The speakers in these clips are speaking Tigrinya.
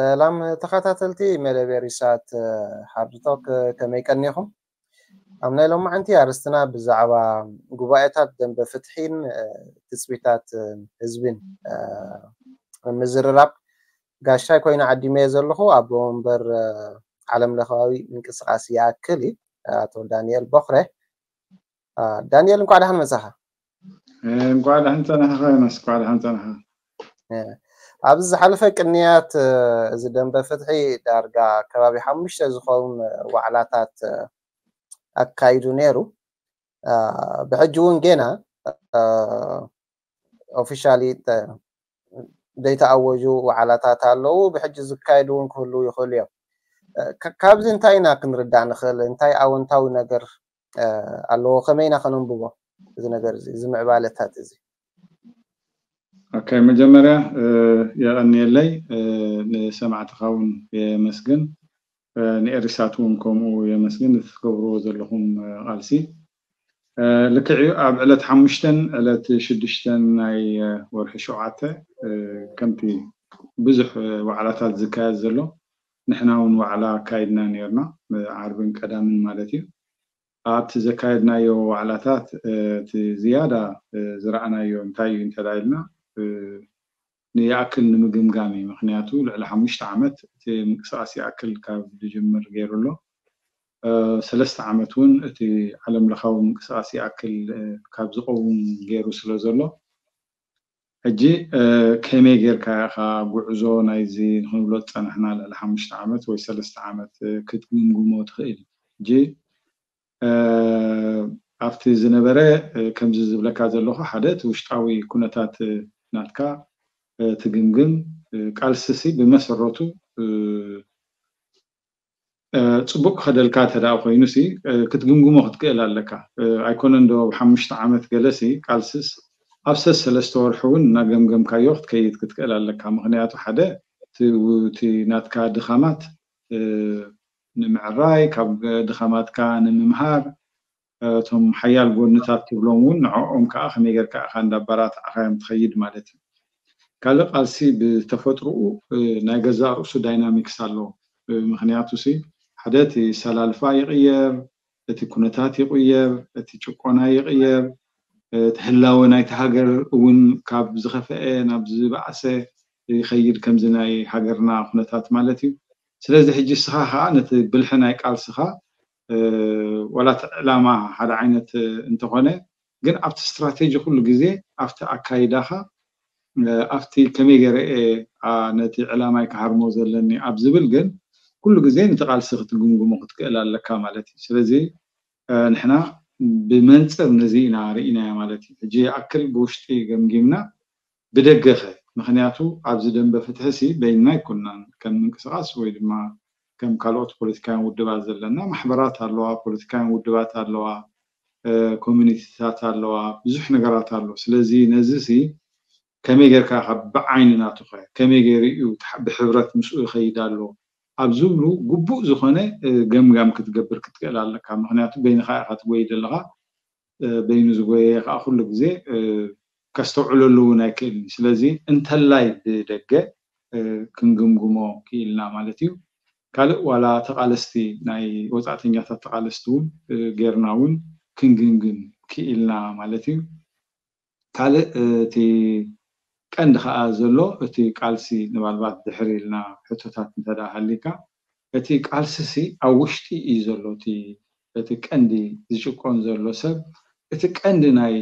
ሰላም ተኸታተልቲ መደብ ሪሳት ሃርድቶክ፣ ከመይ ቀኒኹም? ኣብ ናይ ሎማዓንቲ ኣርእስትና ብዛዕባ ጉባኤታት ደንበ ፍትሒን ትፅቢታት ህዝብን ምዝርራብ ጋሻይ ኮይኑ ዓዲመዮ ዘለኹ ኣቦ ወንበር ዓለም ለኻዊ ምንቅስቃስ ይኣክል እዩ፣ ኣቶ ዳንኤል ቦኽረ። ዳንኤል፣ እንኳዕ ደሓን መጻኻ። እንኳዕ ደሓን ጸናሕኻ ዮናስ። እንኳዕ ደሓን ጸናሕኻ። ኣብዚ ዝሓለፈ ቅንያት እዚ ደንበ ፍትሒ ዳርጋ ከባቢ ሓሙሽተ ዝኸውን ዋዕላታት ኣካይዱ ነይሩ። ብሕጂ እውን ጌና ኦፊሻሊ ዘይተኣወጁ ዋዕላታት ኣለዉ። ብሕጂ ዝካየዱ እውን ክህልዉ ይኽእሉ እዮም። ካብዚ እንታይ ኢና ክንርዳእ ንኽእል? እንታይ ኣወንታዊ ነገር ኣለዎ? ከመይ ኢና ከነንብቦ እዚ ነገር እዚ፣ እዚ ምዕባለታት እዚ? ኦኬ፣ መጀመርያ የቐንየለይ፣ ንሰማዕትኻ እውን የመስግን፣ ንኤሪሳት እውን ከምኡ የመስግን፣ እቲ ትገብርዎ ዘለኹም ቃልሲ። ልክዕ እዩ፣ ኣብ ዕለት ሓሙሽተን ዕለት ሽዱሽተን ናይ ወርሒ ሸውዓተ ከምቲ ብዙሕ ዋዕላታት ዝካየድ ዘሎ፣ ንሕና እውን ዋዕላ ኣካይድና ነርና፣ ዓርብን ቀዳምን ማለት እዩ። ኣብቲ ዘካየድናዮ ዋዕላታት እቲ ዝያዳ ዝረኣናዮ እንታይ እዩ እንተ ኢልና፣ ንይኣክል ንምግምጋም እዩ። ምክንያቱ ልዕሊ ሓሙሽተ ዓመት እቲ ምንቅስቃስ ይኣክል ካብ ዝጅምር ገይሩ ኣሎ። ሰለስተ ዓመት እውን እቲ ዓለም ለኻዊ ምንቅስቃስ ይኣክል ካብ ዝቀውም ገይሩ ስለ ዘሎ፣ ሕጂ ከመይ ጌርካ ኢኻ ጉዕዞ ናይዚ ንክንብሎ ዝጸናሕና ልዕሊ ሓሙሽተ ዓመት ወይ ሰለስተ ዓመት ክትግምግሞ ትኽእል? ሕጂ ኣብቲ ዝነበረ ከምዚ ዝብለካ ዘለኹ፣ ሓደ እቲ ውሽጣዊ ኩነታት ናትካ ትግምግም። ቃልስሲ ብመሰረቱ ጽቡቅ ክኸደልካ እንተ ደኣ ኮይኑ ሲ ክትግምግሞ ክትክእል ኣለካ። ኣይኮነን ዶ ኣብ ሓሙሽተ ዓመት ገለ ሲ ቃልስስ ኣብ ሰለስተ ወርሒ እውን እናገምገምካዮ ክትከይድ ክትክእል ኣለካ። ምክንያቱ ሓደ እቲ ናትካ ድኻማት ንምዕራይ፣ ካብ ድኻማትካ ንምምሃር፣ እቶም ሓያል ጎንታት ትብሎም እውን ንዕኦም ከዓ ከመይ ጌርካ ኢኻ እንዳበራታዕካዮም ትኸይድ ማለት እዩ። ካልእ ቃልሲ ብተፈጥሮኡ ናይ ገዛእ ርእሱ ዳይናሚክስ ኣለዎ። ምክንያቱ ሲ ሓደ እቲ ሰላልፋ ይቕየር፣ እቲ ኩነታት ይቕየር፣ እቲ ጭቆና ይቕየር፣ እቲ ህላወ ናይቲ ሃገር እውን ካብ ዝኸፈአ ናብ ዝበኣሰ ይኸይድ፣ ከምዚ ናይ ሃገርና ኩነታት ማለት እዩ። ስለዚ ሕጂ እስኻ ከዓ ነቲ ብልሒ ናይ ቃልስኻ ዋላ እቲ ዕላማ ሓደ ዓይነት እንተኾነ፣ ግን ኣብቲ ስትራቴጂ ኩሉ ግዜ ኣብቲ ኣካይዳኻ ኣብቲ ከመይ ገይረ እየ ነቲ ዕላማይ ክሃርሞ ዘለኒ ኣብ ዝብል ግን ኩሉ ግዜ ነቲ ቃልሲ ክትግምግሞ ክትክእል ኣለካ ማለት እዩ። ስለዚ ንሕና ብመንፅር ነዚ ኢና ርኢናዮ ማለት እዩ። ሕጂ ይኣክል ብውሽጢ ገምጊምና ብደገኸ፣ ምክንያቱ ኣብዚ ደንበ ፍትሒ ሲ በይንና ኣይኮናን ከም ምንቅስቃስ ወይ ድማ ከም ካልኦት ፖለቲካውያን ውድባት ዘለና ማሕበራት ኣለዋ፣ ፖለቲካውያን ውድባት ኣለዋ፣ ኮሚኒቲታት ኣለዋ፣ ብዙሕ ነገራት ኣሎ። ስለዚ ነዚ ሲ ከመይ ጌርካ ካብ ብዓይኒ ናቱ ከ ከመይ ገይሩ እዩ ብሕብረት ምስኡ ይኸይድ ኣሎ ኣብ ዝብሉ ግቡእ ዝኾነ ገምጋም ክትገብር ክትክእል ኣለካ። ምክንያቱ በይንኻ ኢኻ ትጎይ ዘለኻ፣ በይኑ ዝጎየ ከዓ ኩሉ ግዜ ከስተውዕለሉ እውን ኣይክእልን። ስለዚ እንተላይ ብደገ ክንግምግሞ ክኢልና ማለት እዩ። ካልእ ዋላ ተቓለስቲ ናይ ወፃእተኛታት ተቓለስቲ እውን ጌርና እውን ክንግምግም ክኢልና ማለት እዩ። ካልእ እቲ ቀንዲ ከዓ ዘሎ እቲ ቃልሲ ንባልባት ድሕር ኢልና ሕቶታት እንተ ደኣ ሃሊካ እቲ ቃልሲ ሲ ኣብ ውሽጢ እዩ ዘሎ። እቲ እቲ ቀንዲ ዝጭቆን ዘሎ ሰብ እቲ ቀንዲ ናይ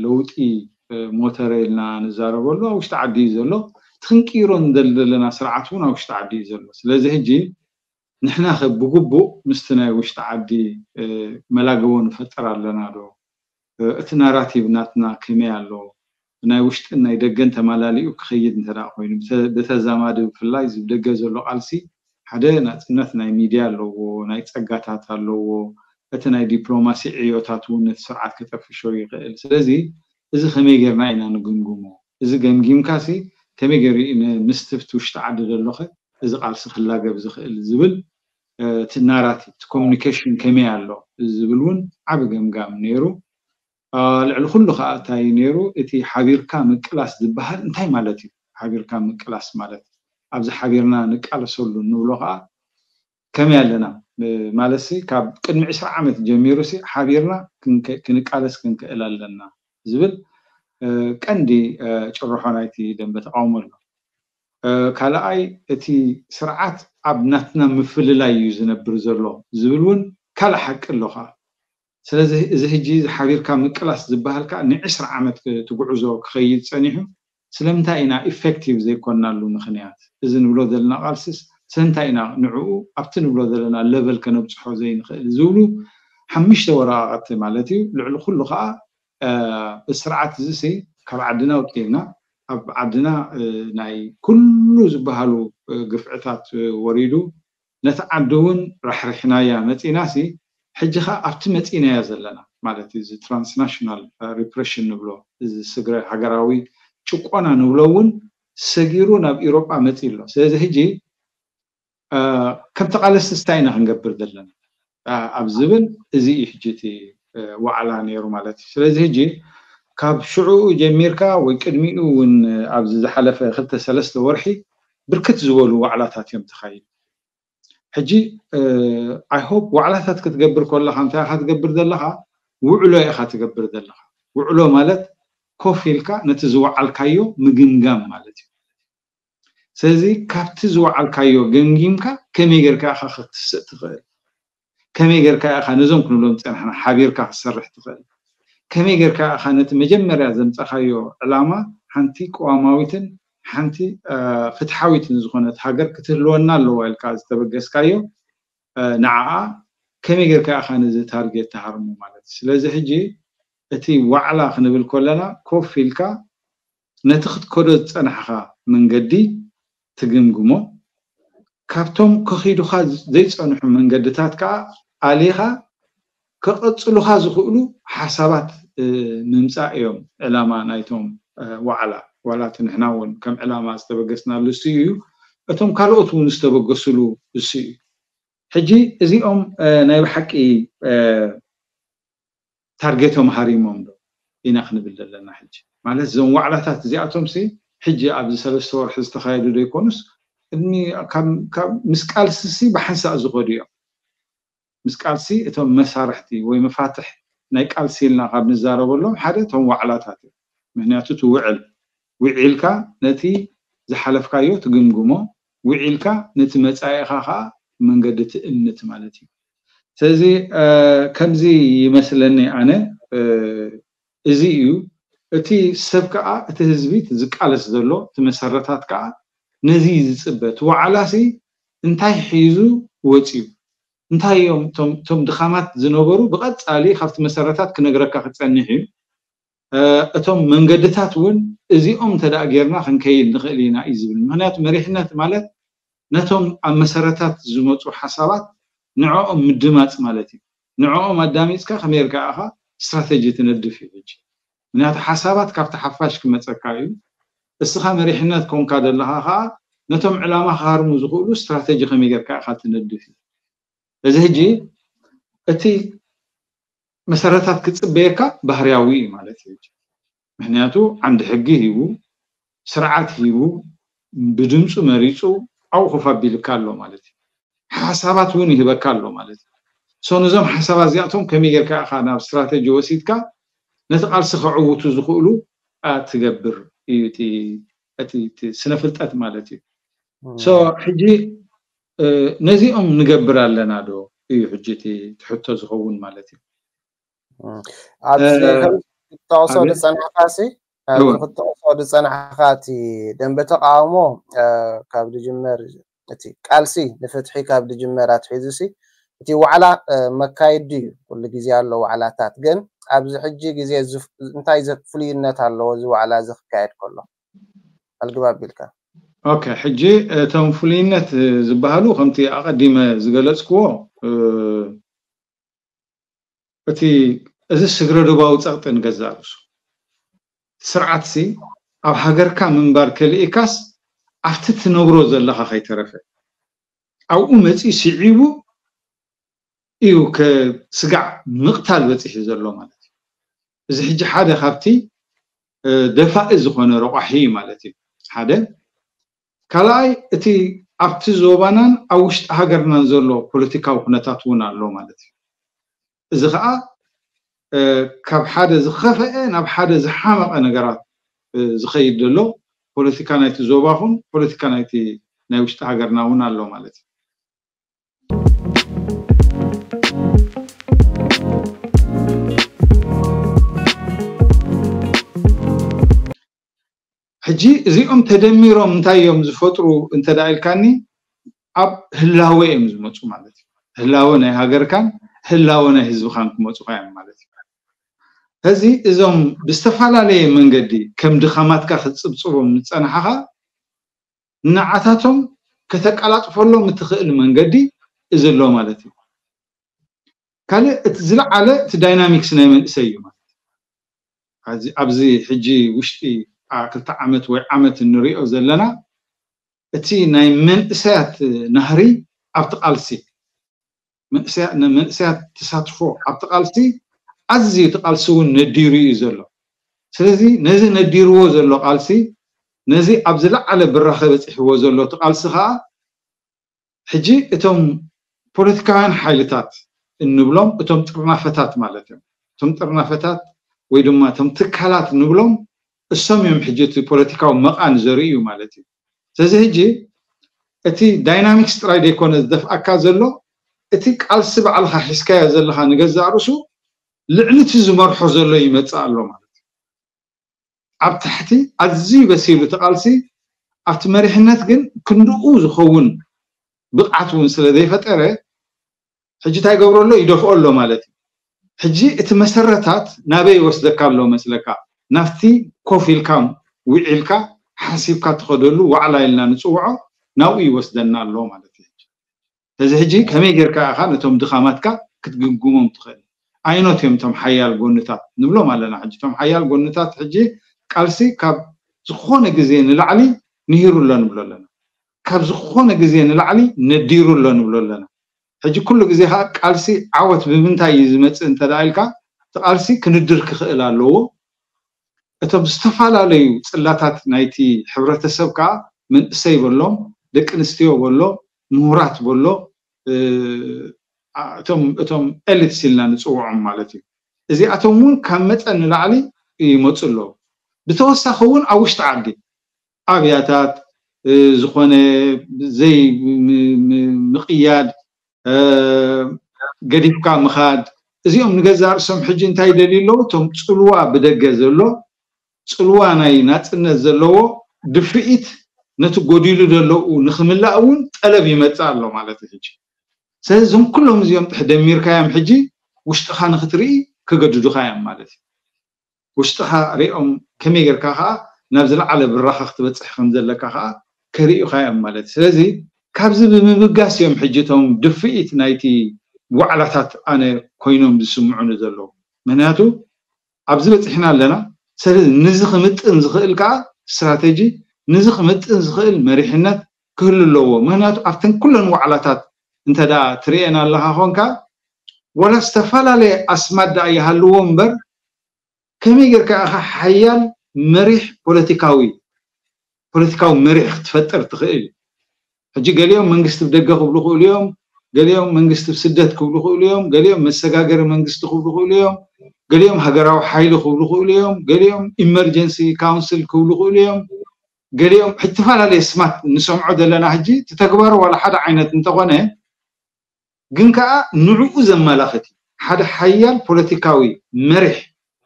ለውጢ ሞተር ኢልና ንዛረበሉ ኣብ ውሽጢ ዓዲ እዩ ዘሎ። እቲ ክንቅይሮ ንደሊ ዘለና ስርዓት እውን ኣብ ውሽጢ ዓዲ እዩ ዘሎ። ስለዚ ሕጂ ንሕና ከ ብግቡእ ምስቲ ናይ ውሽጢ ዓዲ መላገቦ ንፈጥር ኣለና ዶ? እቲ ናራቲቭ ናትና ከመይ ኣሎ? ናይ ውሽጥን ናይ ደገን ተማላሊኡ ክኸይድ እንተ ደኣ ኮይኑ፣ ብተዛማዲ ብፍላይ እዚ ብደገ ዘሎ ቃልሲ ሓደ ናጽነት ናይ ሚድያ ኣለዎ፣ ናይ ጸጋታት ኣለዎ፣ እቲ ናይ ዲፕሎማሲ ዕዮታት እውን ነቲ ስርዓት ከጠፍሾ ይኽእል። ስለዚ እዚ ከመይ ጌርና ኢና ንግምግሞ? እዚ ገምጊምካሲ ከመይ ገይሩ እዩ ን- ምስቲ ኣብቲ ውሽጢ ዓዲ ዘሎኸ እዚ ቃልሲ ክላገብ ዝኽእል ዝብል እቲ ናራቲቭ እቲ ኮሚኒኬሽን ከመይ ኣሎ ዝብል እውን ዓቢ ገምጋም ነይሩ። ልዕሊ ኩሉ ከዓ እንታይ ነይሩ እቲ ሓቢርካ ምቅላስ ዝበሃል እንታይ ማለት እዩ? ሓቢርካ ምቅላስ ማለት ኣብዚ ሓቢርና ንቃለሰሉ ንብሎ ከዓ ከመይ ኣለና ማለት ሲ ካብ ቅድሚ ዕስራ ዓመት ጀሚሩ ሲ ሓቢርና ክንቃለስ ክንክእል ኣለና ዝብል ቀንዲ ጭርሖ ናይቲ ደንበ ተቃውሞ ኣሎ። ካልኣይ እቲ ስርዓት ኣብ ናትና ምፍልላይ እዩ ዝነብር ዘሎ ዝብል እውን ካልእ ሓቂ ኣሎ ከዓ። ስለዚ እዚ ሕጂ እዚ ሓቢርካ ምቅላስ ዝበሃል ከዓ ንዕስራ ዓመት ትጉዕዞ ክኸይድ ፀኒሑ ስለምንታይ ኢና ኢፌክቲቭ ዘይኮናሉ ምኽንያት? እዚ ንብሎ ዘለና ቃልስስ ስለምንታይ ኢና ንዕኡ ኣብቲ ንብሎ ዘለና ለቨል ከነብፅሖ ዘይንኽእል ዝብሉ ሓሙሽተ ወረቃቀቲ ማለት እዩ። ልዕሊ ኩሉ ከዓ እዚ ስርዓት እዚ ሲ ካብ ዓድና ውፅኢና ኣብ ዓድና ናይ ኩሉ ዝበሃሉ ግፍዕታት ወሪዱ ነቲ ዓዲ እውን ራሕሪሕናያ መፂና ሲ ሕጂ ከዓ ኣብቲ መፂናያ ዘለና ማለት እዚ ትራንስናሽናል ሪፕሬሽን ንብሎ እዚ ስግረ ሃገራዊ ጭቆና ንብሎ እውን ሰጊሩ ናብ ኢሮጳ መፂ ኣሎ። ስለዚ ሕጂ ከም ተቃለስቲ ስታይ ኢና ክንገብር ዘለና ኣብ ዝብል እዚ እዩ ሕጂ እቲ ዋዕላ ነይሩ ማለት እዩ። ስለዚ ሕጂ ካብ ሽዑኡ ጀሚርካ ወይ ቅድሚኡ እውን ኣብዚ ዝሓለፈ ክልተ ሰለስተ ወርሒ ብርክት ዝበሉ ዋዕላታት እዮም ተኻይዱ። ሕጂ ኣይ ሆፕ ዋዕላታት ክትገብር ከለካ እንታይ ኢካ ትገብር ዘለካ? ውዕሎ ኢካ ትገብር ዘለካ። ውዕሎ ማለት ኮፍ ኢልካ ነቲ ዝወዓልካዮ ምግምጋም ማለት እዩ። ስለዚ ካብቲ ዝወዓልካዮ ገምጊምካ ከመይ ጌርካ ኢኻ ክትስእ ትኽእል? ከመይ ጌርካ ኢኻ ነዞም ክንብሎም ዝጸናሕና ሓቢርካ ክትሰርሕ ትኽእል? ከመይ ጌርካ ኢኻ ነቲ መጀመርያ ዘምጻኻዮ ዕላማ ሓንቲ ቅዋማዊትን ሓንቲ ፍትሓዊትን ዝኾነት ሃገር ክትህልወና ኣለዋ ኢልካ ዝተበገስካዮ ንዓኣ ከመይ ጌርካ ኢኻ ነዚ ታርጌት ትሃርሞ ማለት እዩ። ስለዚ ሕጂ እቲ ዋዕላ ክንብል ከለና ኮፍ ኢልካ ነቲ ክትከዶ ዝጸናሕኻ መንገዲ ትግምግሞ፣ ካብቶም ከኺዱኻ ዘይጸንሑ መንገድታት ከኣ ኣሊኻ ከቐጽሉኻ ዝኽእሉ ሓሳባት ምምጻእ እዮም ዕላማ ናይቶም ዋዕላ። ዋላ እቲ ንሕና እውን ከም ዕላማ ዝተበገስናሉ እሱ እዩ፣ እቶም ካልኦት እውን ዝተበገሱሉ እሱ እዩ። ሕጂ እዚኦም ናይ ብሓቂ ታርጌቶም ሃሪሞም ዶ ኢና ክንብል ዘለና? ሕጂ ማለት እዞም ዋዕላታት እዚኣቶም ሲ ሕጂ ኣብዚ ሰለስተ ወርሒ ዝተኻየዱ ዶ ይኮኑስ ቅድሚ ምስ ቃልሲ ሲ ብሓንሳእ ዝኸዱ እዮም። ምስ ቃልሲ እቶም መሳርሕቲ ወይ መፋትሕ ናይ ቃልሲ ኢልና ካብ ንዛረበሎም ሓደ እቶም ዋዕላታት እዮም። ምክንያቱ እቲ ውዕል ውዒልካ ነቲ ዝሓለፍካዮ ትግምግሞ፣ ውዒልካ ነቲ መጻኢኻ ከዓ መንገዲ ትእምት ማለት እዩ። ስለዚ ከምዚ ይመስለኒ ኣነ እዚ እዩ እቲ ሰብ ከዓ እቲ ህዝቢ ዝቃለስ ዘሎ እቲ መሰረታት ከዓ ነዚ ዝፅበ እቲ ዋዕላሲ እንታይ ሒዙ ወፅዩ እንታይ እዮም እቶም ድኻማት ዝነበሩ ብቐፃሊ ካብቲ መሰረታት ክነግረካ ክፀንሕ እዩ። እቶም መንገድታት እውን እዚኦም እንተ ደኣ ጌርና ክንከይድ ንኽእል ኢና እዩ ዝብል። ምኽንያቱ መሪሕነት ማለት ነቶም ኣብ መሰረታት ዝመፁ ሓሳባት ንዕኦም ምድማፅ ማለት እዩ። ንዕኦም ኣዳሚፅካ ከመይ ጌርካ ኢኻ ስትራተጂ ትነድፍ እዩ። ሕጂ ምኽንያቱ ሓሳባት ካብቲ ሓፋሽ ክመፀካ እዩ። እስኻ መሪሕነት ኮንካ ዘለኻ ከዓ ነቶም ዕላማ ክሃርሙ ዝኽእሉ ስትራተጂ ከመይ ጌርካ ኢኻ ትነድፍ እዩ። እዚ ሕጂ እቲ መሰረታት ክፅበየካ ባህርያዊ እዩ ማለት እዩ። ምክንያቱ ዓንዲ ሕጊ ሂቡ ስርዓት ሂቡ ብድምፁ መሪፁ ኣብኡ ኮፍ ኣቢልካ ኣሎ ማለት እዩ። ሓሳባት እውን ይህበካ ኣሎ ማለት እዩ። ሶ ነዞም ሓሳባት እዚኣቶም ከመይ ጌርካ ኢኻ ናብ ስትራተጂ ወሲድካ ነቲ ቃልሲ ከዕውቱ ዝኽእሉ ትገብር እዩ እቲ ስነ ፍልጠት ማለት እዩ። ሶ ሕጂ ነዚኦም ንገብር ኣለና ዶ እዩ ሕጂ እቲ ትሕቶ ዝኸውን ማለት እዩ። ኣብዚ ክጠቕሶ ዝፀናሕካ ሲ ኣብዚ ክጠቕሶ ዝፀናሕካ እቲ ደንበ ተቃውሞ ካብ ዝጅመር እቲ ቃልሲ ንፍትሒ ካብ ዝጅመር ኣትሒዙ ሲ እቲ ዋዕላ መካየዲ እዩ። ኩሉ ግዜ ኣሎ ዋዕላታት፣ ግን ኣብዚ ሕጂ ግዜ እንታይ ፍሉይነት ኣለዎ እዚ ዋዕላ እዚ ክካየድ ከሎ ኣልግብ ኣቢልካ? ኦኬ፣ ሕጂ እቶም ፍሉይነት ዝበሃሉ ከምቲ ኣቐዲመ ዝገለፅክዎ እቲ እዚ ስግረ ዶባዊ ፀቕጢ ንገዛእ ርእሱ ስርዓትሲ ኣብ ሃገርካ ምንባር ከልኢካስ ኣብቲ ትነብሮ ዘለኻ ከይተረፈ ኣብኡ መፂኡ ስዒቡ እዩ ስጋዕ ምቕታል በፂሑ ዘሎ ማለት እዩ። እዚ ሕጂ ሓደ ካብቲ ደፋኢ ዝኾነ ረቋሒ እዩ ማለት እዩ። ሓደ ካልኣይ እቲ ኣብቲ ዞባናን ኣብ ውሽጢ ሃገርናን ዘሎ ፖለቲካዊ ኩነታት እውን ኣሎ ማለት እዩ። እዚ ከዓ ካብ ሓደ ዝኸፈአ ናብ ሓደ ዝሓመቐ ነገራት ዝኸይድ ዘሎ ፖለቲካ ናይቲ ዞባ ኹን ፖለቲካ ናይቲ ናይ ውሽጢ ሃገርና እውን ኣሎ ማለት እዩ። ሕጂ እዚኦም ተደሚሮም እንታይ እዮም ዝፈጥሩ እንተ ደኣ ኢልካኒ፣ ኣብ ህላወ እዮም ዝመፁ ማለት እዩ። ህላወ ናይ ሃገርካን ህላወ ናይ ህዝብኻን ክመፁኻ እዮም ማለት እዩ። ሕዚ እዞም ብዝተፈላለየ መንገዲ ከም ድኻማትካ ክትፅብፅቦም ዝፀናሕኻ ንዓታቶም ከተቀላጥፈሎም እትኽእል መንገዲ እዚ ኣሎ ማለት እዩ። ካልእ እቲ ዝለዓለ እቲ ዳይናሚክስ ናይ መንእሰይ እዩ ማለት እዩ። ኣብዚ ሕጂ ውሽጢ ክልተ ዓመት ወይ ዓመት እንሪኦ ዘለና እቲ ናይ መንእሰያት ናህሪ ኣብቲ ቃልሲ መንእሰያት ተሳትፎ ኣብቲ ቃልሲ ኣዝዩ እቲ ቃልሲ እውን ነዲሩ እዩ ዘሎ። ስለዚ ነዚ ነዲርዎ ዘሎ ቃልሲ ነዚ ኣብ ዝለዓለ ብራኸ በፂሕዎ ዘሎ እቲ ቃልሲ ከዓ ሕጂ እቶም ፖለቲካውያን ሓይልታት እንብሎም እቶም ጥርናፈታት ማለት እዮም። እቶም ጥርናፈታት ወይ ድማ እቶም ትካላት እንብሎም እሶም እዮም ሕጂ እቲ ፖለቲካዊ መቓን ዘርእዩ ማለት እዩ። ስለዚ ሕጂ እቲ ዳይናሚክስ ጥራይ ዘይኮነ ዝደፍኣካ ዘሎ እቲ ቃልሲ ባዕልኻ ሒዝካዮ ዘለኻ ንገዛእ ርእሱ ልዕሊ እቲ ዝመርሖ ዘሎ ይመፅእ ኣሎ ማለት እዩ። ኣብ ታሕቲ ኣዝዩ በሲሉ እቲ ቃልሲ ኣብቲ መሪሕነት ግን ክንድኡ ዝኸውን ብቕዓት እውን ስለ ዘይፈጠረ ሕጂ እንታይ ይገብሮ ኣሎ? ይደፍኦ ኣሎ ማለት እዩ። ሕጂ እቲ መሰረታት ናበይ ይወስደካ ኣሎ መስለካ? ናብቲ ኮፍ ኢልካ ውዒልካ ሓሲብካ ትኸደሉ ዋዕላ ኢልና ንፅውዖ ናብኡ ይወስደና ኣሎ ማለት እዩ። ሕጂ ስለዚ ሕጂ ከመይ ጌርካ ኢኻ ነቶም ድኻማትካ ክትግምግሞም ትኽእል? ኣይኖት እዮም እቶም ሓያል ጎንታት ንብሎም ኣለና። ሕጂ እቶም ሓያል ጎንታት ሕጂ ቃልሲ ካብ ዝኾነ ግዜ ንላዕሊ ንሂሩ ኣሎ ንብሎ ኣለና። ካብ ዝኾነ ግዜ ንላዕሊ ነዲሩ ኣሎ ንብሎ ኣለና። ሕጂ ኩሉ ግዜ ከዓ ቃልሲ ዓወት ብምንታይ እዩ ዝመፅእ እንተ ደኣ ኢልካ እቲ ቃልሲ ክንድር ክኽእል ኣለዎ። እቶም ዝተፈላለዩ ፅላታት ናይቲ ሕብረተሰብ ከዓ መንእሰይ በሎም፣ ደቂ ኣንስትዮ በሎ፣ ምሁራት በሎ፣ እቶም ኤሊትስ ኢልና ንፅውዖም ማለት እዩ። እዚኣቶም እውን ካብ መጠን ንላዕሊ ይመፁ ኣለዉ። ብተወሳኺ እውን ኣብ ውሽጢ ዓዲ ኣብያታት ዝኾነ ዘይምቕያድ ገዲፍካ ምኻድ እዚኦም ንገዛእ ርእሶም ሕጂ እንታይ ይደልዩ ኣለዉ? እቶም ፅልዋ ብደገ ዘሎ ፅልዋ ናይ ናፅነት ዘለዎ ድፍኢት ነቲ ጎዲሉ ዘለዉ ንክምላእ እውን ጠለብ ይመፅእ ኣሎ ማለት እዩ። ሕጂ ስለዚ እዞም ኩሎም እዚኦም ጥሕ ደሚርካዮም ሕጂ ውሽጥኻ ንክትርኢ ክገድዱኻ እዮም ማለት እዩ። ውሽጥኻ ሪኦም ከመይ ጌርካ ከዓ ናብ ዝለዓለ ብራኸ ክትበፅሕ ከም ዘለካ ከዓ ከርእዩኻ እዮም ማለት እዩ። ስለዚ ካብዚ ብምብጋስ እዮም ሕጂ እቶም ድፍኢት ናይቲ ዋዕላታት ኣነ ኮይኖም ዝስምዑኒ ዘለዉ። ምክንያቱ ኣብዚ በፂሕና ኣለና። ስለዚ ንዚ ክምጥን ዝኽእል ከዓ ስትራተጂ፣ ንዚ ክምጥን ዝኽእል መሪሕነት ክህሉ ኣለዎ። ምክንያቱ ኣብተን ኩለን ዋዕላታት እንተ ደኣ ትርእየን ኣለኻ ኮንካ ዋላ ዝተፈላለየ ኣስማት ደኣ ይሃልዎ እምበር ከመይ ጌርካ ኢኻ ሓያል መሪሕ ፖለቲካዊ ፖለቲካዊ መሪሕ ክትፈጥር ትኽእል? ሕጂ ገሊኦም መንግስቲ ብደገ ክብሉ ክእሉ እዮም፣ ገሊኦም መንግስቲ ብስደት ክብሉ ክእሉ እዮም፣ ገሊኦም መሰጋገሪ መንግስቲ ክብሉ ክእሉ እዮም፣ ገሊኦም ሃገራዊ ሓይሊ ክብሉ ክእሉ እዮም፣ ገሊኦም ኢመርጀንሲ ካውንስል ክብሉ ክእሉ እዮም፣ ገሊኦም ዝተፈላለየ ስማት ንሰምዖ ዘለና ሕጂ እቲ ተግባሩ ዋላ ሓደ ዓይነት እንተኾነ ግን ከዓ ንዕኡ ዘመላኽት እዩ። ሓደ ሓያል ፖለቲካዊ መሪሕ